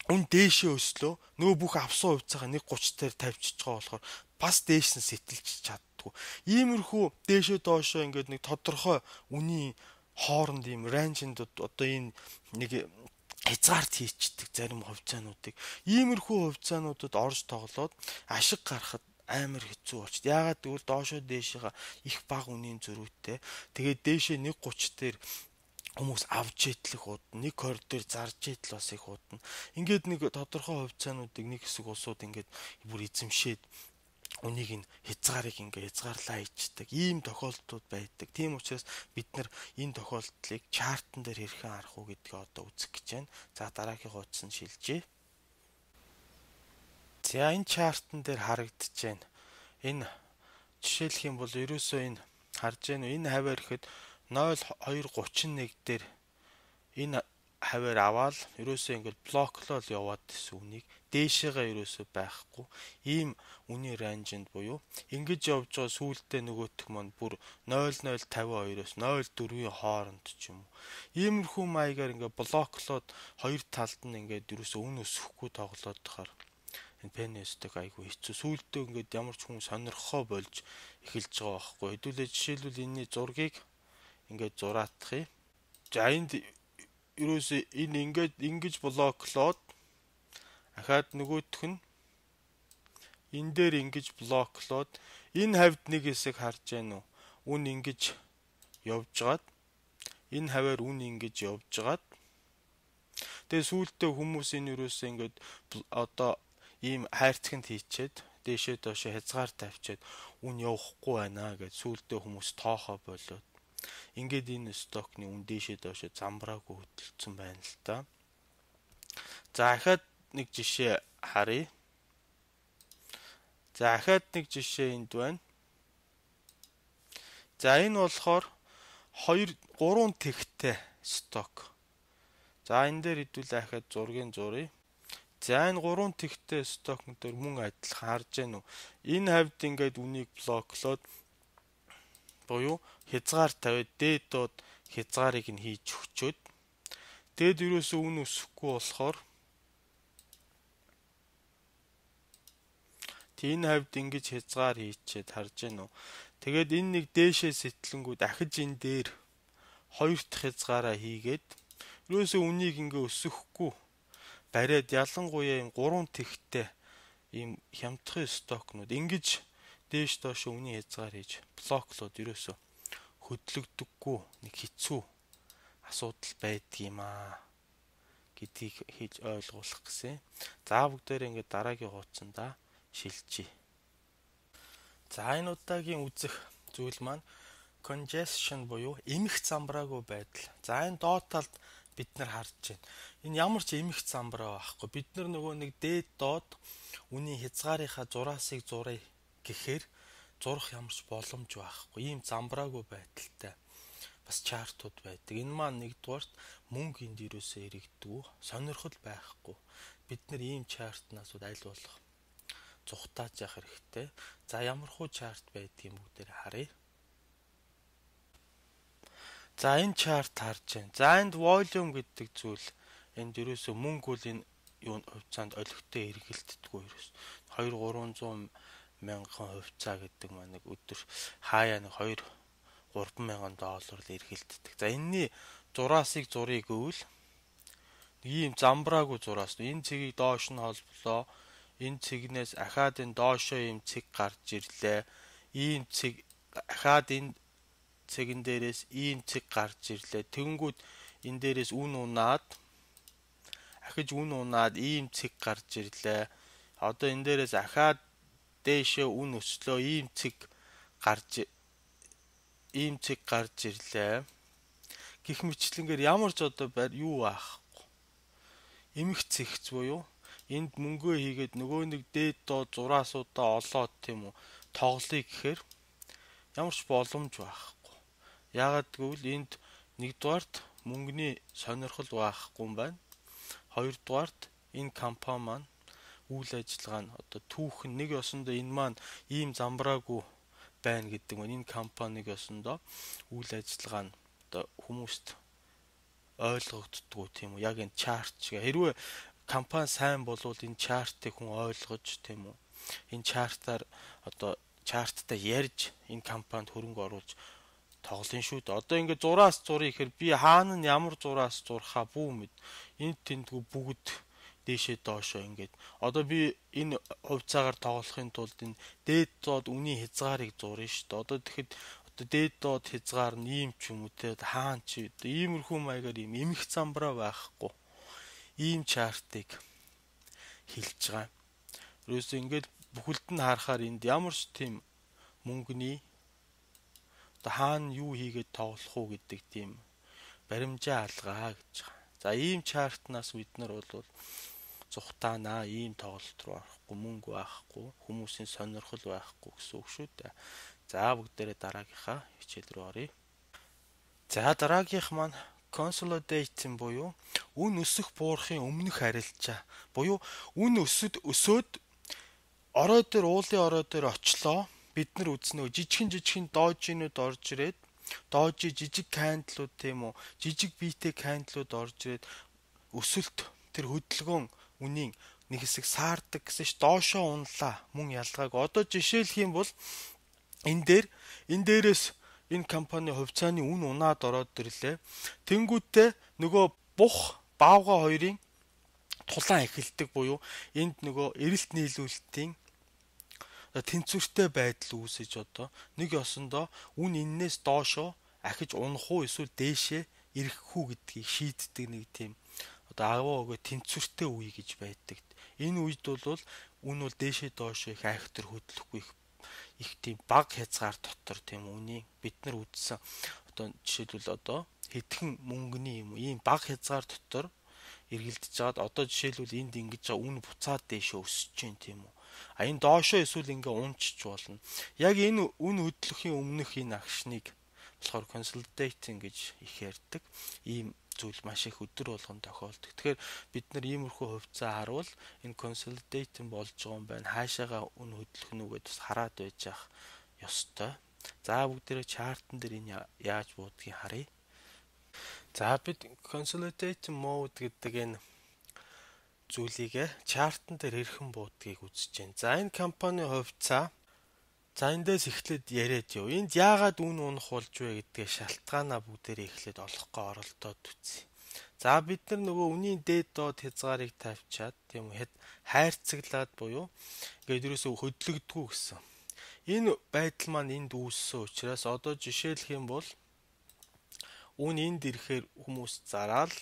үн дээшээ өслөө. Нөгөө бүх авсан хувьцаагаа 1.30 дээр тавьчихж байгаа болохоор бас дээш нь сэтэлж чаддгүй. Иймэрхүү дээшээ доошоо ингээд нэг тодорхой үнийн хооронд ийм range-нд одоо энэ нэг хязгаарт хийчдэг зарим хувьцаануудыг. Иймэрхүү хувьцаануудад орж тоглоод ашиг гаргахад амар хэцүү болчих. Яагаад гэвэл доошоо дээшээга их бага үнийн зөрүүтэй. Тэгээд дээшээ 1.30 дээр хүмүүс авч идлэх удна, 1.20 дээр зарж идэл бас их удна. Ингээд нэг тодорхой хувьцаануудыг нэг хэсэг улсууд ингээд бүр эзэмшээд үнийг нь хязгаарыг ингээд хязгаарлаа ичдэг. Ийм тохиолдлууд байдаг. Тийм учраас бид нар энэ тохиолдлыг чартан дээр хэрхэн харах уу гэдгээ одоо үзэх гэж байна. За дараагийн хуудас нь шилжээ. За энэ чартан дээр харагдаж байна. Энэ жишээлх юм бол ерөөсөө энэ харж байна. Энэ хаваар ихэд 0.231 дээр энэ хаваар аваад ерөөсөө ингээд блоклол яваад гэсэн үнийг дээшээгээ ерөөсөө байхгүй. Ийм үнийн range-нд буюу ингэж явж байгаа сүүлдээ нөгөөх маань бүр 0.052-оос 0.4-ийн хооронд ч юм уу. Иймэрхүү маягаар ингээд блоклоод хоёр талд нь ингээд ерөөсөө үн өсөхгүй тоглоод тахаар энэ пенэстэг айгүй хэцүү. Сүүлдээ ингээд ямар ч хүн сонирхоо болж эхэлж байгаа байхгүй. Хэдүүлээ жишээлбэл энэний зургийг ингээд зураатах юм. За энд ерөөсөө энэ ингээд ингэж блоклоод ахаад нөгөөх нь энэ дээр ингэж блоклоод энэ хавьд нэг хэсэг харж байна уу? Үн ингэж явжгаад энэ хаваар үн ингэж явжгаад тэгээ сүүлдээ хүмүүс энэ ерөөсөө ингээд одоо ийм хайрцагт хийчээд дээшээ доошоо хязгаар тавьчаад үн явахгүй байна гэж сүүлдээ хүмүүс тоохоо болоод ингээд энэ стокны үн дээшээ доошоо замбраагүй хөдөлсөн байна л та. За ахаад нэг жишээ харъя. За ахаад нэг жишээ энд байна. За энэ болохоор 3 тэгтээ сток. За энэ дээр хэдүүлээ ахаад зургийн зуръя. За энэ 3 тэгтээ стокн дээр мөн адилхан харж байна уу? Энэ хавьд ингээд үнийг блоклоод буюу хязгаар тавиад дээд доод хязгаарыг нь хийж өгчөөд тэгэд юусоо үн өсөхгүй болохоор энэ хавьд ингэж хязгаар хийчихэд харж байна уу? Тэгээд энэ нэг дээшээ сэтлэнгүү дахиж энэ дээр хоёр дахь хязгаараа хийгээд юусоо үнийг ингээ өсөхгүй бариад ялангуяа ийм 3 тэгтээ ийм хямдхан стокнууд ингэж дээш доош үний хязгаар хийж блоклоод ерөөсө хөдлөгдөггүй нэг хэцүү асуудал байдаг юм аа гэдгийг хийж ойлгуулах гэсэн. За бүгдээрээ ингээд дараагийн хуудсанда шилжиж. За энэ удаагийн үзэх зүйл маань congestion буюу эмх замбраагүй байдал. За энэ доод талд бид нар харж байна. Энэ ямар ч эмх замбраа байхгүй. Бид нар нөгөө нэг дээд доод үний хязгаарынхаа зураасыг зуръя гэхээр зурах ямар ч боломж байхгүй. Ийм замбраагүй байдалтай бас чартууд байдаг. Энэ маань нэгдүгээрт мөнгө энд юусоо ирэгддэг. Сонирхол байхгүй. Бид нар ийм чартнаас аль болох зүхтааж явах хэрэгтэй. За ямархуу чарт байдгийг бүгдээр харъя. За энэ чарт харж байна. За энд volume гэдэг зүйл энд юусоо мөнгө бол энэ юу хувьцаанд олигтой эргэлддэггүй ерөөс 2-300 мянган хувьцаа гэдэг маань нэг өдөр хаяа нэг 2-3 мянган доллар л эргэлддэг. За энэний зураасыг зуръя гэвэл ийм замбраагүй зураас энэ цэгийг доош нь холболоо. Энэ цэгнээс ахаад энэ доошоо ийм цэг гарч ирлээ. Ийм цэг ахаад энэ цэгэн дээрээс ийм цэг гарч ирлээ. Тэгэнгүүт энэ дээрээс үн унаад ахиж үн унаад ийм цэг гарч ирлээ. Одоо энэ дээрээс ахаад дээшээ үн өслөө ийм цэг гарч ирлээ. Гэх мэтлэнгээр ямар ч одоо юу аахгүй. Эмх цэгц буюу энд мөнгөө хийгээд нөгөө нэг дээд доод зураасуудаа олоод тийм үү тоглоё гэхээр ямар ч боломж байхгүй. Яагаад гэвэл энд нэгдүгээрт мөнгөний сонирхол байхгүй юм байна. Хоёрдугаарт энэ компани маань үйл ажиллагаа нь одоо түүхэн нэг ёсондоо энэ маань ийм замбраагүй байна гэдэг нь энэ компаниг ёсондоо үйл ажиллагаа нь одоо хүмүүст ойлгогддгоо тийм үү. Яг энэ чарт шиг хэрвээ компани сайн болвол энэ чартыг хүн ойлгож тийм үү. Энэ чартаар одоо чарттай ярьж энэ компанид хөрөнгө оруулж тоглоно шүү дээ. Одоо ингээд зураас зуръя гэхээр би хаана нь ямар зураас зурхаа бүү мэд. Энд тэндгүй бүгд дээшээ доошоо ингээд. Одоо би энэ хувьцаагаар тоглохын тулд энэ дээд доод үнийн хязгаарыг зурна шүү дээ. Одоо тэгэхэд одоо дээд доод хязгаар нь ийм ч юм уу те хаан чи иймэрхүү маягаар ийм эмх замбраа байхгүй. Ийм чартыг хэлж байгаа. Ерөөсөө ингээд бүхэлд нь харахаар энд ямар ч тийм мөнгөний одоо хаана юу хийгээд тоглох уу гэдэг тийм баримжаа алгаа гэж байгаа. За ийм чартнаас бид нар бол зүхтаанаа ийм тоглолт руу орохгүй, мөнгө байхгүй, хүмүүсийн сонирхол байхгүй гэсэн үг шүү дээ. За бүгдээрээ дараагийнхаа хичээл рүү оръё. За дараагийнх маань consolidating буюу үн өсөх буурахын өмнөх арилжаа. Буюу үн өсөөд орой дээр уулын орой дээр очлоо. Бид нар үзнэ жижигхэн доожинууд орж ирээд доожи жижиг кандlууд тийм үү жижиг биетэй кандлууд орж ирээд өсөлт тэр хөдөлгөөн үнийн нэг хэсэг саардаг гэсэн ш доошоо унлаа мөн ялгааг. Одоо жишээлх юм бол энэ дээрээс энэ компани хувьцааны үн унаад ороод ирлээ. Тэнгүүтээ нөгөө бух баавга хоёрын тулаан эхэлдэг буюу энд нөгөө эрэлт нийлүүлэлтийн тэнцвэртэй байдал үүсэж одоо нэг ёсондоо үн эннээс доошоо ахиж унах уу эсвэл дээшээ ирэх үү гэдгийг шийддэг нэг тийм одоо агуу өгөө тэнцвэртэй үе гэж байдаг. Энэ үед бол үн бол дээшээ доошоо их айхтар хөдлөхгүй их тийм баг хязгаар дотор тийм үний бид нар үзсэн одоо жишээлбэл одоо хэдхэн мөнгөний юм ийм баг хязгаар дотор эргэлдэж жаад одоо жишээлбэл энд ингэж үн буцаад дээшээ өсөж чинь тийм үү. А энэ доошоо эсвэл ингээ унчч болно. Яг энэ үн хөдлөхийн өмнөх энэ агшныг болохоор consolidating гэж их ярьдаг. Ийм зүйл маш их өдөр болгон тохиолдог. Тэгэхээр бид нар иймэрхүү хувьцаа харуул энэ consolidating болж байгаа юм байна. Хаашаага үн хөдлөх нь үгээд бас хараад байж ах ёстой. За бүгдээрээ чартан дээр энэ яаж буудгийг харъя. За бид consolidating mode гэдэг энэ зүйлийг чартан дээр хэрхэн буудгийг үзэж байна. За энэ компани хувьцаа за эндээс эхлээд яриад яв. Энд яагаад үн унах болж вэ гэдгээ шалтгаанаа бүгдээрээ эхлээд олохгүй оролдоод үзье. За бид нар нөгөө үнийн дээд доод хязгаарыг тавьчаад тийм үү хайрцаглаад буюу ингээд ерөөсөө хөдлөгдгүү гэсэн. Энэ байдал маань энд үүссэн учраас одоо жишээлх юм бол үн энд ирэхээр хүмүүс зараал,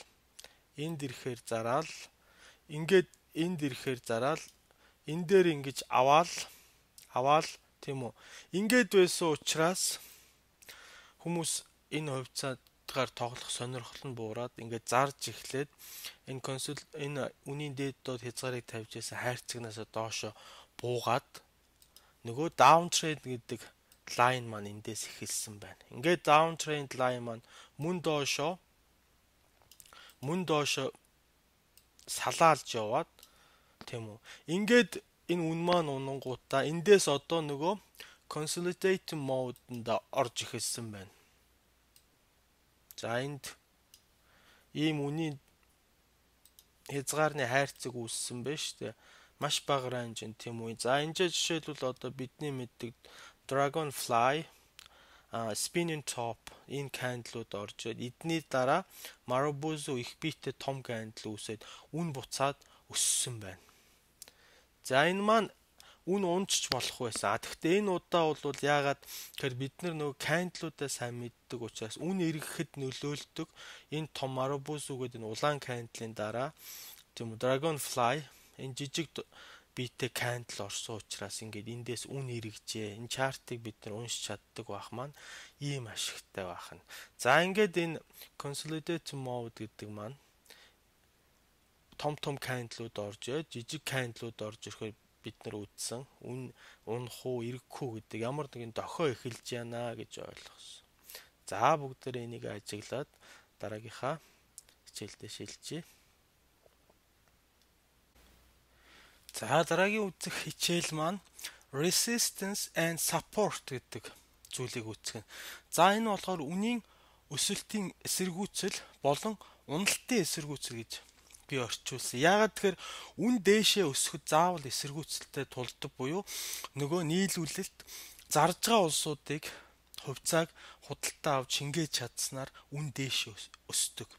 энд ирэхээр зараал, ингээд энд ирэхээр зараал, энэ дээр ингэж аваал тийм үү. Ингээд байсан учраас хүмүүс энэ хувьцаагаар тоглох сонирхол нь буураад ингээд зарж эхлээд энэ үнийн дээд доод хязгаарыг тавьж байсан хайрцагнаас доошо буугаад нөгөө downtrend гэдэг line маань эндээс эхэлсэн байна. Ингээд downtrend line маань мөн доошо салаалж яваад тийм үү. Ингээд энэ үн маань унангуудаа эндээс одоо нөгөө consolidating mode-нд орж эхэлсэн байна. За энд ийм үнийн хязгаарны хайрцаг үүссэн байна шүү дээ. Маш бага ранж тийм үү. За энэ жишээлбэл одоо бидний мэддэг Dragonfly, Spinning Top энэ candle-ууд орж ирээд эдний дараа Marubozu их биетэй том candle үүсээд үн буцаад өссөн байна. За энэ маань үн унжиж болох байсан. Гэхдээ энэ удаа бол яагаад тэгэхээр бид нөгөө candle-уудаа сайн мэддэг учраас үн эргэхэд нөлөөлдөг энэ том Marabou гэдэг энэ улаан candle-ийн дараа тийм Dragonfly энэ жижиг биетэй candle орсон учраас ингээд эндээс үн эргэжээ. Энэ чартыг бид уншиж чаддаг байх маань ийм ашигтай байх нь. За ингээд энэ consolidate mode гэдэг маань том candle-ууд орж жижиг candle-ууд орж ирэхээр бид үзсэн үн унах уу эргэх үү гэдэг ямар нэгэн дохио эхэлж яана гэж ойлгосон. За бүгдээрээ энийг ажиглаад дараагийнхаа хичээлдээ шилжье. За дараагийн үзэх хичээл маань resistance and support гэдэг зүйлийг үзэх. За энэ болохоор үнийн өсөлтийн эсэргүүцэл болон уналтын эсэргүүцэл гэж би орчуулсан. Яагаад тэгэхээр үн дээшээ өсөхөд заавал эсэргүүцэлтэй тулдаг буюу нөгөө нийлүүлэлт зарж байгаа улсуудыг хувьцааг худалдаа авч шингээж чадсанаар үн дээшээ өсдөг.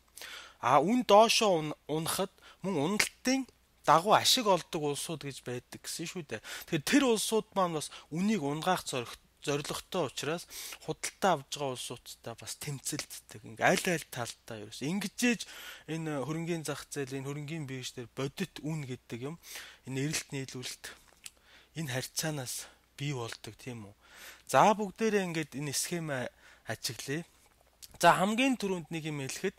Үн доошоо унахад мөн уналтын дагуу ашиг олдог улсууд гэж байдаг гэсэн шүү дээ. Тэгэхээр тэр улсууд маань бас үнийг унгаах зорилготой учраас худалдаа авж байгаа улсуудтай бас тэмцэлддэг. Ингээл аль талдаа ерөөс ингэжээж энэ хөрөнгийн зах зээл, энэ хөрөнгийн бирж дээр бодит үн гэдэг юм энэ эрэлт нийлүүлэлт энэ харьцаанаас бий болдог тийм үү. За бүгдээрээ ингээд энэ схемаа ажиглая. За хамгийн түрүүнд нэг юм хэлэхэд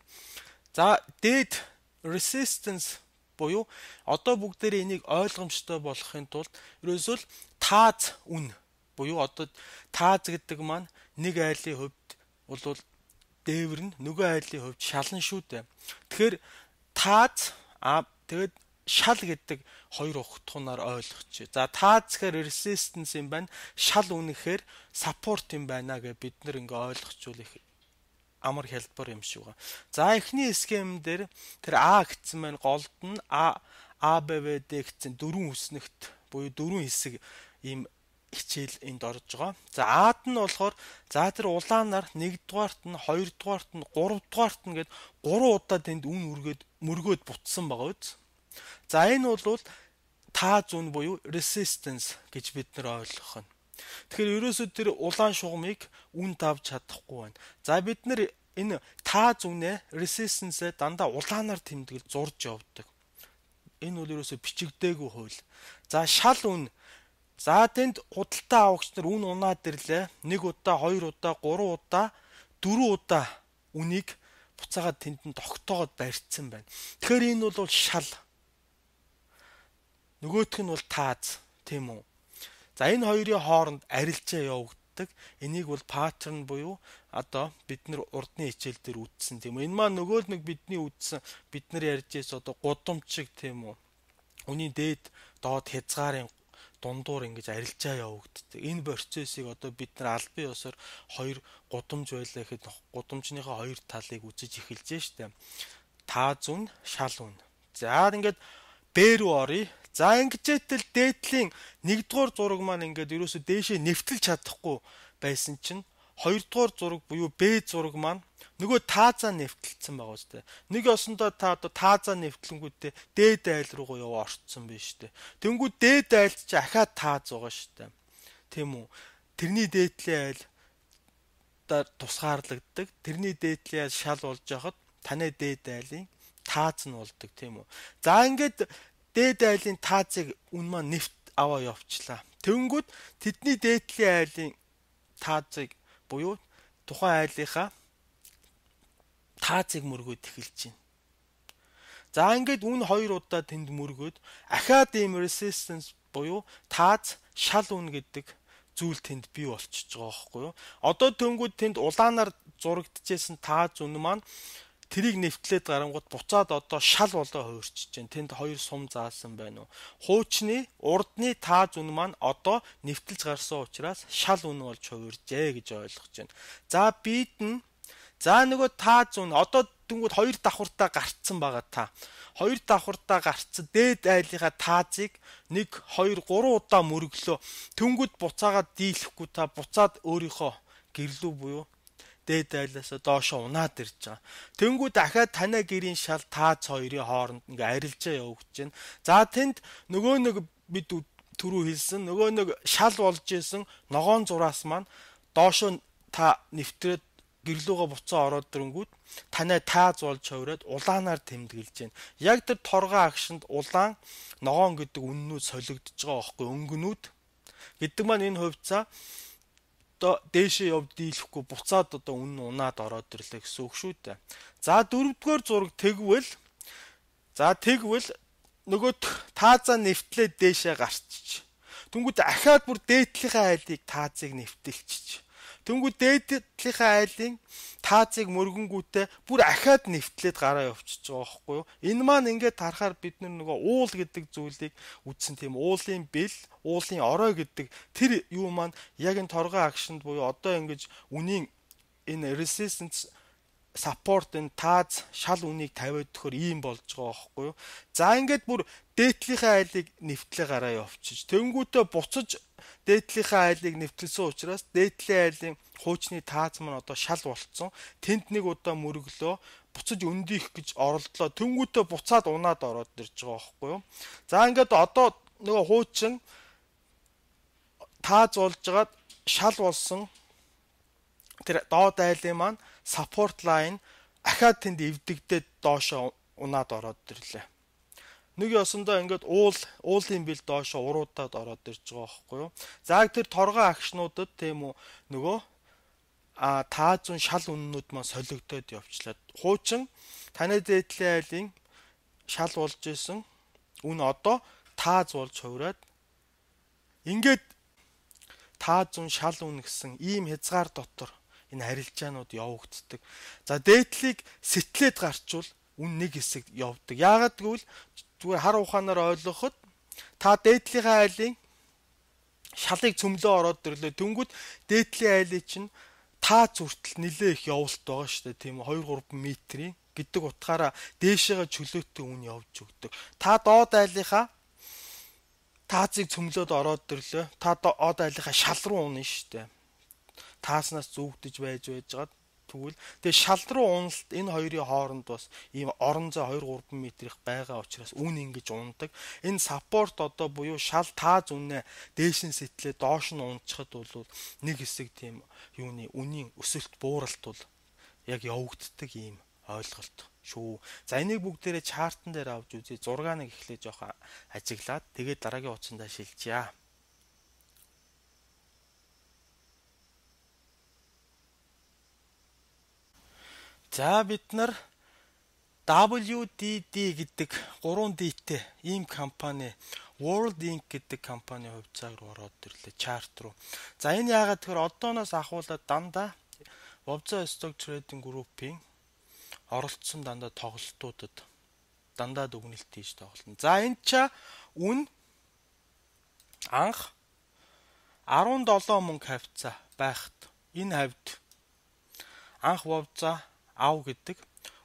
за дээд resistance буюу одоо бүгдээрээ энийг ойлгомжтой болохын тулд ерөөсөө л тааз үн буюу одоо тааз гэдэг маань нэг айлын хувьд бол дээвэр нь нөгөө айлын хувьд шалан шүү дээ. Тэгэхээр тааз тэгээд шал гэдэг хоёр утгаараар ойлгочих. За тааз гэхээр resistance юм байна. Шал үн гэхээр support юм байна гэж бид нэр ингээ ойлгочвол их амар хэлбэр юм шиг байна. За эхний схем дээр тэр А гэсэн маань голд нь ABVD гэсэн дөрвөн үснэгт буюу дөрвөн хэсэг ийм хичээл энд орж байгаа. За Ад нь болохоор за тэр улаанаар 1-дугаарт нь 2-дугаарт нь 3-дугаарт нь гээд 3 удаа тэнд үн мөргөөд бутсан байгаа үз. За энэ бол тааз үн буюу resistance гэж бид нар ойлгох нь. Тэгэхээр ерөөсөө тэр улаан шугамыг үн давж чадахгүй байна. За бид нар энэ тааз үнэ resistance-ээ дандаа улаанаар тэмдэглэж зурж явдаг. Энэ бол ерөөсөө бичигдээгүй хууль. За шал үн. За тэнд худалдаа авагч нар үн унаад ирлээ. 1 удаа, 2 удаа, 3 удаа, 4 удаа үнийг буцаагаад тэнд нь тогтоогоод барьцсан байна. Тэгэхээр энэ бол шал. Нөгөөх нь бол тааз, тийм үү? За энэ хоёрын хооронд арилжаа явагддаг. Энийг бол паттерн буюу одоо бид нар урдны хичээл дээр үзсэн тийм үү. Энэ маань нөгөө нэг бидний үзсэн бид нар ярьж байсан одоо гудамжиг тийм үү. Үний дээд доод хязгаарын дундуур ингэж арилжаа явагддаг. Энэ процессыг одоо бид нар албан ёсоор хоёр гудамж байлаа гэхэд гудамжныхаа хоёр талыг үзэж эхэлж штэ. Тааз үн, шал үн. За ингээд Б рүү оръё. За ингэжээтэл дээдлийн 1-р зураг маань ингээд ерөөсөө дээшээ нэвтэлж чадахгүй байсан чинь 2-р зураг буюу Б зураг маань нөгөө таазаа нэвтэлсэн байгаа үстэй. Нэг осондоо та одоо таазаа нэвтлэнгүүтээ дээд айл руу яваа орцсон биш үү. Тэнгүү дээд айлд чи ахаад тааз байгаа штэ. Тийм үү. Тэрний дээдлийн айл тусгаарлагддаг. Тэрний дээдлийн айл шал болж яхад таны дээд айлын тааз нь болдог тийм үү. За ингээд дээд айлын таазыг үн маань нэвт аваа явчлаа. Тэнгүүд тэдний дээдлийн айлын таазыг буюу тухайн айлынхаа таазыг мөргөөд эхэлж байна. За ингээд үн 2 удаа тэнд мөргөөд ахаад ийм resistance буюу тааз шал үн гэдэг зүйл тэнд бий болчихж байгаа байхгүй юу? Одоо тэнгүүд тэнд улаанаар зурагдчихсэн тааз үн маань тэрийг нэвтлээд гарангууд буцаад одоо шал болоо хувирчиж байна. Тэнд хоёр сум заасан байна уу? Хуучны урдны тааз үн маань одоо нэвтэлж гарсан учраас шал үн болж хувиржээ гэж ойлгож байна. За бид нь за нөгөө тааз үн одоо тэнгууд хоёр давхартаа гарцсан байгаа та. Хоёр давхартаа гарцсан дээд айлынхаа таазыг 1 2 3 удаа мөрөглөө. Тэнгууд буцаагаад дийлэхгүй та буцаад өөрийнхөө гэрлүү буюу дээд айлаас доошо унаад ирж байгаа. Тэнгүү дахиад танай гэрийн шал тааз хоёрын хооронд ингээ арилжаа явагдаж байна. За тэнд нөгөө нэг бид түрүү хэлсэн нөгөө нэг шал болж исэн ногоон зураас маань доошоо та нэвтрээд гэрлүүгээ буцаа ороод ирэнгүүт танай тааз болж хувираад улаанаар тэмдэглэж байна. Яг тэр торгоо агшинд улаан ногоон гэдэг үннүүд солигдож байгаа байхгүй өнгөнүүд гэдэг маань энэ хувьцаа одоо дээшээ явд дийлэхгүй буцаад одоо үнэн унаад ороод ирлээ гэсэн үг шүү дээ. За дөрөвдүгээр зураг тэгвэл нөгөө таазаа нэвтлээд дээшээ гарчиж. Тэнгүүд ахаад бүр дээдлийнхаа айлыг таазыг нэвтэлчих. Тэнгүүд дээдлийнхаа айлын таазыг мөргөнгүүтээ бүр ахаад нэвтлээд гараа явчихж байгаа байхгүй юу? Энэ маань ингээд харахаар бид нөгөө уул гэдэг зүйлийг үзсэн тийм уулын бэл, уулын орой гэдэг тэр юу маань яг энэ торгоо агшинд буюу одоо ингэж үнийн энэ resistance support энэ тааз шал үнийг тавиад өгөхөр ийм болж байгаа байхгүй юу? За ингээд бүр дээдлийнхаа айлыг нэвтлээ гараа явчихж. Тэнгүүтээ буцаж дээдлийнхаа айлыг нэвтэлсэн учраас дээдлийн айлын хуучны тааз маань одоо шал болцсон. Тэнд нэг удаа мөрөглөө буцаж өндийх гэж оролдлоо. Тэнгүүтээ буцаад унаад ороод ирж байгаа байхгүй юу? За ингээд одоо нөгөө хуучин тааз болжгаад шал болсон тэр доод айлын маань support line ахаад тэнд эвдэгдээд доошоо унаад ороод ирлээ. Нэг ёсондоо ингээд уулын бил доошоо уруудаад ороод ирж байгаа байхгүй юу? За тэр торгоо агшнуудад тийм үү нөгөө таазун шал үннүүд маань солигдоод явчлаа. Хуучин таны дээдлийн айлын шал болж исэн үн одоо тааз болж хувраад ингээд таазун шал үн гэсэн ийм хязгаар дотор энэ харилцаанууд явагддаг. За дээдлийг сэтлээд гарчвал үн нэг хэсэг явдаг. Яагаад гэвэл зүгээр хар ухаанаар ойлгоход та дээдлийнхаа айлын шалыг цөмлөө ороод ирлээ. Тэнгүүд дээдлийн айлын чинь тааз хүртэл нэлээ их явуулт байгаа шүү дээ. Тийм 2-3 метрийн гэдэг утгаараа дээшээгээ чөлөөтэй үн явж өгдөг. Та доод айлынхаа таазыг цөмлөөд ороод ирлээ. Та доод айлынхаа шал руу унах шүү дээ. Тааснаас зүгдэж байжгаад тэгвэл тэгээ шал руу уналт энэ хоёрын хооронд бас ийм орон зай 2-3 метрих байгаа учраас үн ингэж ундаг. Энэ саппорт одоо буюу шал тааз үнэ дээш нь сэтлээ доош нь унцхад бол нэг хэсэг тийм юуны үнийн өсөлт бууралт бол яг явагддаг ийм ойлголт шүү. За энийг бүгдээрээ чартан дээр авч үзье. 6-ыг эхлээ жоохон ажиглаад тэгээд дараагийн утсандаа шилжье. За бид нар WDD гэдэг 3D-тэй ийм компани World Inc гэдэг компани хувьцааг руу ороод ирлээ чарт руу. За энэ яагаад тэгэхээр одооноос ахуулаад дандаа Webza Stock Trading Group-ийн оролцсон дандаа тоглолтуудад дандаа дүгнэлт хийж тоглоно. За энэ ча үн анх 17 мөнгө хавцаа байхад энэ хавьд анх Webza ав гэдэг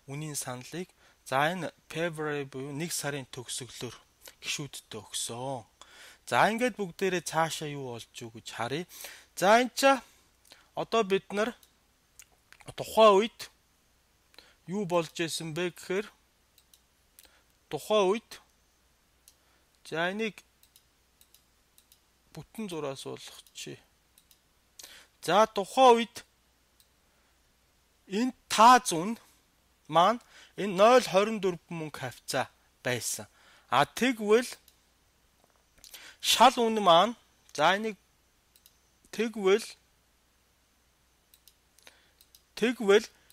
үнийн саналыг за энэ February буюу 1 сарын төгсгөлөөр гишүүдтэй өгсөн. За ингээд бүгдээрээ цаашаа юу болж юу гэж харъя. За энэ ча одоо бид нар тухайн үед юу болж исэн бэ гэхээр тухайн үед за энийг бүтэн зураас болгочих. За тухайн үед энэ тааз үн маань энэ 0.24 мөнгө хавцаа байсан. Тэгвэл шал үн маань за энийг тэгвэл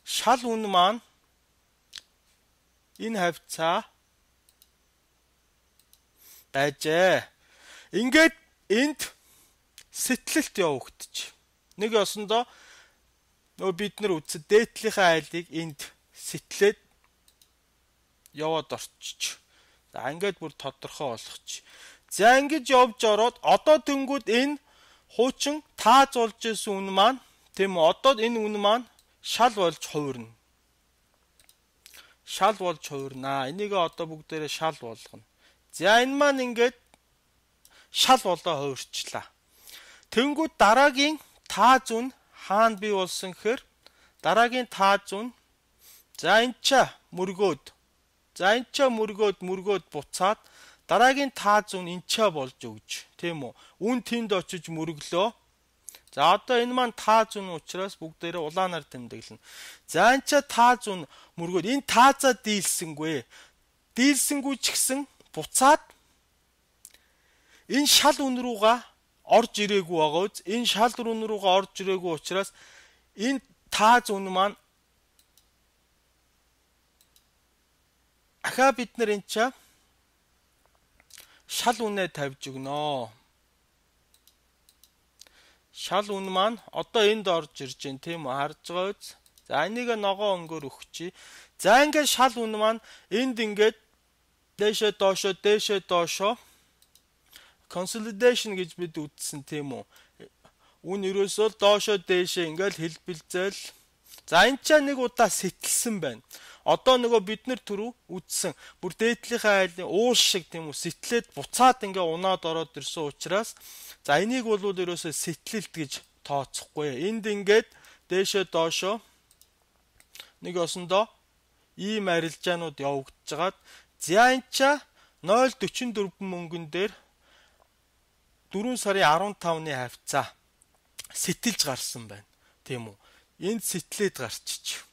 шал үн маань энэ хавцаа байжээ. Ингээд энд сэтлэлт явагдчих. Нэг ёсондоо бид нар үзсэн дээдлийнхаа айлыг энд сэтлээд яваад орчих. За ингээд бүр тодорхой болгочих. За ингэж явж ороод одоо тэнгүүд энэ хуучин тааз болж исэн үн маань тийм үү одоо энэ үн маань шал болж хувирна. Шал болж хувирнаа. Энийг одоо бүгдээрээ шал болгоно. За энэ маань ингээд шал болоо хувирчлаа. Тэнгүүд дараагийн тааз үн хаана бий болсон гэхээр дараагийн тааз үн за энэ ча мөргөөд мөргөөд буцаад Дараагийн таа зүүн энчээ болж өгж, тийм үү? Үн тэнд очиж мөрөглөө. За одоо энэ маань таа зүүн учраас бүгдээрээ улаанаар тэмдэглэнэ. За энэ ч таа зүүн мөргөөд энэ таазаа дийлсэнгүй. Дийлсэнгүй ч гэсэн буцаад энэ шал үн рүүгээ орж ирээгүй байгаа үз. Энэ шал үн рүүгээ орж ирээгүй учраас энэ таа зүүн маань ахаа бид нар энэ ч шал үнэ тавьж өгнө. Шал үн маань одоо энд орж ирж байна тийм үү, харж байгаа үз. За энийг ногоо өнгөөр өгчий. За ингээд шал үн маань энд ингээд дээшээ доошоо consolidation гэж бид үзсэн тийм үү. Үн ерөөсөө доошоо дээшээ ингээд хэлбэлзэл. За энэ ч нэг удаа сэтэлсэн байна. Одоо нөгөө бид нар түрүү үзсэн бүр дээдлийнхаа айлын уул шиг тийм үү сэтлээд буцаад ингээ унаад ороод ирсэн учраас за энийг бол ерөөсөө сэтлэлт гэж тооцохгүй. Энд ингээд дээшээ доошоо нэг осондоо ийм арилжаанууд явагдаж байгаад за энэ ч 0.44 мөнгөн дээр 4 сарын 15-ны хавцаа сэтэлж гарсан байна. Тийм үү? Энд сэтлээд гарчиж.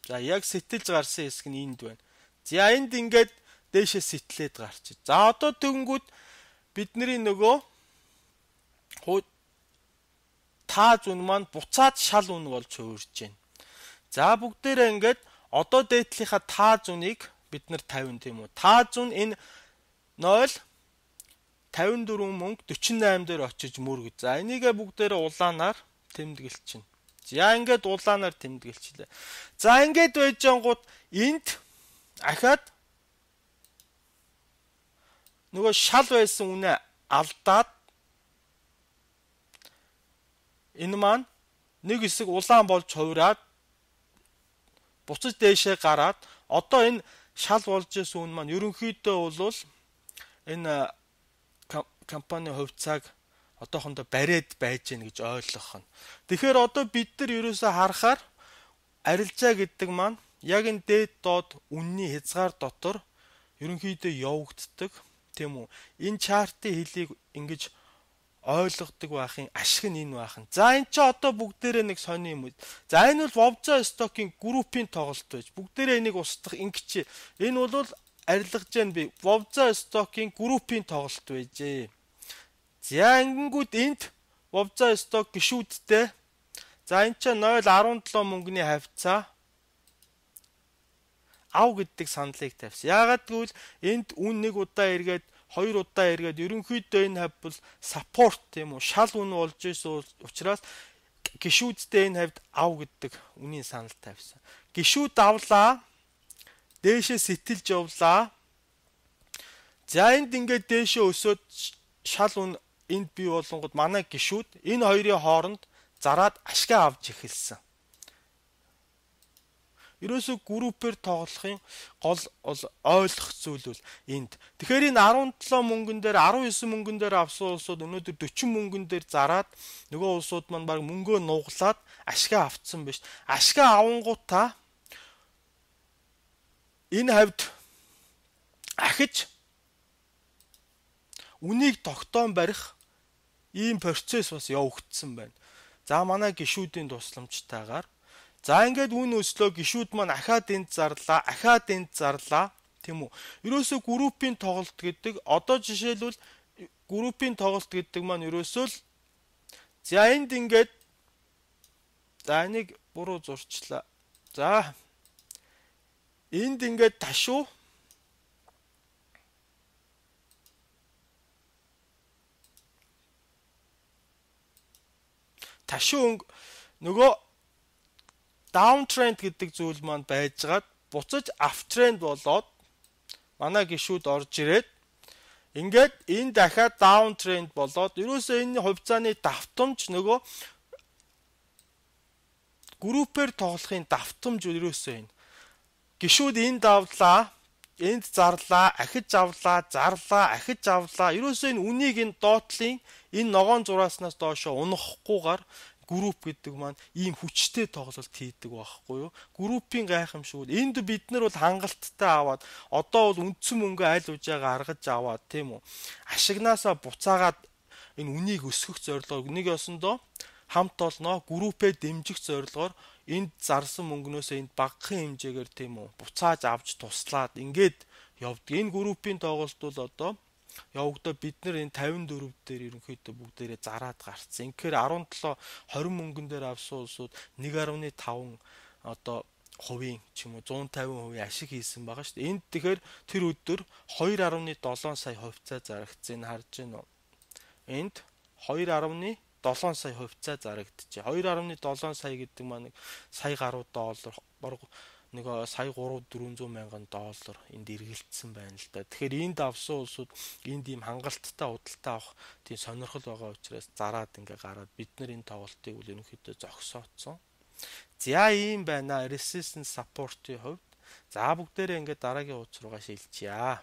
За яг сэтэлж гарсан хэсэг нь энд байна. За энд ингээд дээшээ сэтлээд гарчиж. За одоо тэгэнгүүт бидний нөгөө таа зүүн маань буцаад шал үн болж хувирж байна. За бүгдээрээ ингээд одоо дээдлийнхаа таа зүүнийг бид нар 50 тийм үү. Таа зүүн энэ 0.54 мөнгө 48 дээр очиж мөрөг. За энийгээ бүгдээрээ улаанаар тэмдэглэж байна. За ингээд улаанаар тэмдэглэлээ. За ингээд байж ангууд энд ахаад нөгөө шал байсан үнэ алдаад энэ маань нэг хэсэг улаан болж хувираад буцаж дээшээ гараад одоо энэ шал болж исэн үн маань ерөнхийдөө бол энэ компани хувьцааг одоохондоо бариад байж гэнэ гэж ойлгох нь. Тэгэхээр одоо бид нар ерөөсөө харахаар арилжаа гэдэг маань яг энэ дээд доод үнний хязгаар дотор ерөнхийдөө явагддаг тийм үү. Энэ чартын хэлийг ингэж ойлгодог байхын ашиг нь энэ байх нь. За энэ ч одоо бүгдээрээ нэг сони юм уу. За энэ бол Wovza stock-ийн группийн тоглолт байж. Бүгдээрээ энийг устгах ингэж. Энэ бол арилгаж яана би Wovza stock-ийн группийн тоглолт байжээ. За ингэнгүүт энд Wovza stock гişүүдтэй. За энэ ч 0.17 мөнгөний хавцаа ав гэдэг саналыг тавьсан. Яагаад гэвэл энд үн нэг удаа эргээд хоёр удаа эргээд ерөнхийдөө энэ хав бол support тийм үү шал үн болж исэн учраас гişүүдтэй энэ хавьд ав гэдэг үнийн санал тавьсан. Гişүүд авлаа. Дээшээ сэтэлж явлаа. За энд ингээд дээшээ өсөөд шал үн энд бий болонгод манай гişүүд энэ хоёрын хооронд зараад ашгаа авч эхэлсэн. Ерөөсөө группээр тоглохын гол ойлгох зүйл бол энд. Тэгэхээр энэ 17 мөнгөн дээр 19 мөнгөн дээр авсан улсууд өнөөдөр 40 мөнгөн дээр зараад нөгөө улсууд маань баг мөнгөө нуглаад ашгаа авцсан биш. Ашгаа авангуудаа энэ хавьд ахиж үнийг тогтоон барих ийм процесс бас явагдсан байна. За манай гişүүдийн тусламжтайгаар за ингээд үн өслөө гişүүд маань ахаад энд зарлаа тийм үү. Ерөөсөө группийн тоглолт гэдэг одоо жишээлбэл группийн тоглолт гэдэг маань ерөөсөө л за энд ингээд за энийг буруу зурчлаа. За энд ингээд ташуу нөгөө downtrend гэдэг зүйл маань байжгаад буцаж uptrend болоод манай гişүүд орж ирээд ингээд энэ дахиад downtrend болоод ерөөсөө энэ хувьцааны давтамж нөгөө группээр тоглохын давтамж ерөөсөө энэ гişүүд энд давлаа, энд зарлаа, ахиж авлаа, ахиж авлаа. Ерөөсөө энэ үнийг энэ доотлын энэ ногоон зурааснаас доошо унахгүйгээр групп гэдэг маань ийм хүчтэй тоглолт хийдэг байхгүй юу? Группийн гайхамшиг бол энд бид нар бол хангалттай аваад одоо бол үндсэн мөнгө аль үжаагаа аргаж аваад тийм үү? Ашигнаасаа буцаагаад энэ үнийг өсгөх зорилгоор нэг ёсондоо хамт олноо группээ дэмжих зорилгоор энд зарсан мөнгнөөсөө энд багахан хэмжээгээр тийм үү? Буцааж авч туслаад ингээд явдаг. Энэ группийн тоглолт бол одоо явагдаа бид нар энэ 54 дээр ерөнхийдөө бүгдээрээ зараад гарцсан. Инхээр 17 20 мөнгөн дээр авсан улсууд 1.5 одоо хувийн ч юм уу 150% ашиг хийсэн байгаа шүү дээ. Энд тэгэхээр тэр өдөр 2.7 сая хувьцаа зарагдсан. Энэ харж байна уу? Энд 2.7 сая хувьцаа зарагдчихэ. 2.7 сая гэдэг маань сая гаруй доллар нэг сая 3-400 мянган доллар энд эргэлдсэн байна л да. Тэгэхээр энд авсан улсууд энд ийм хангалттай худалдаа авах тийм сонирхол байгаа учраас зараад ингээ гараад бид нар энэ тоглолтыг үл ерөнхийдөө зогсооцсон. За ийм байна. Resistance support-ийн хувьд за бүгдээрээ ингээ дараагийн хуудас руугаа шилжчихье.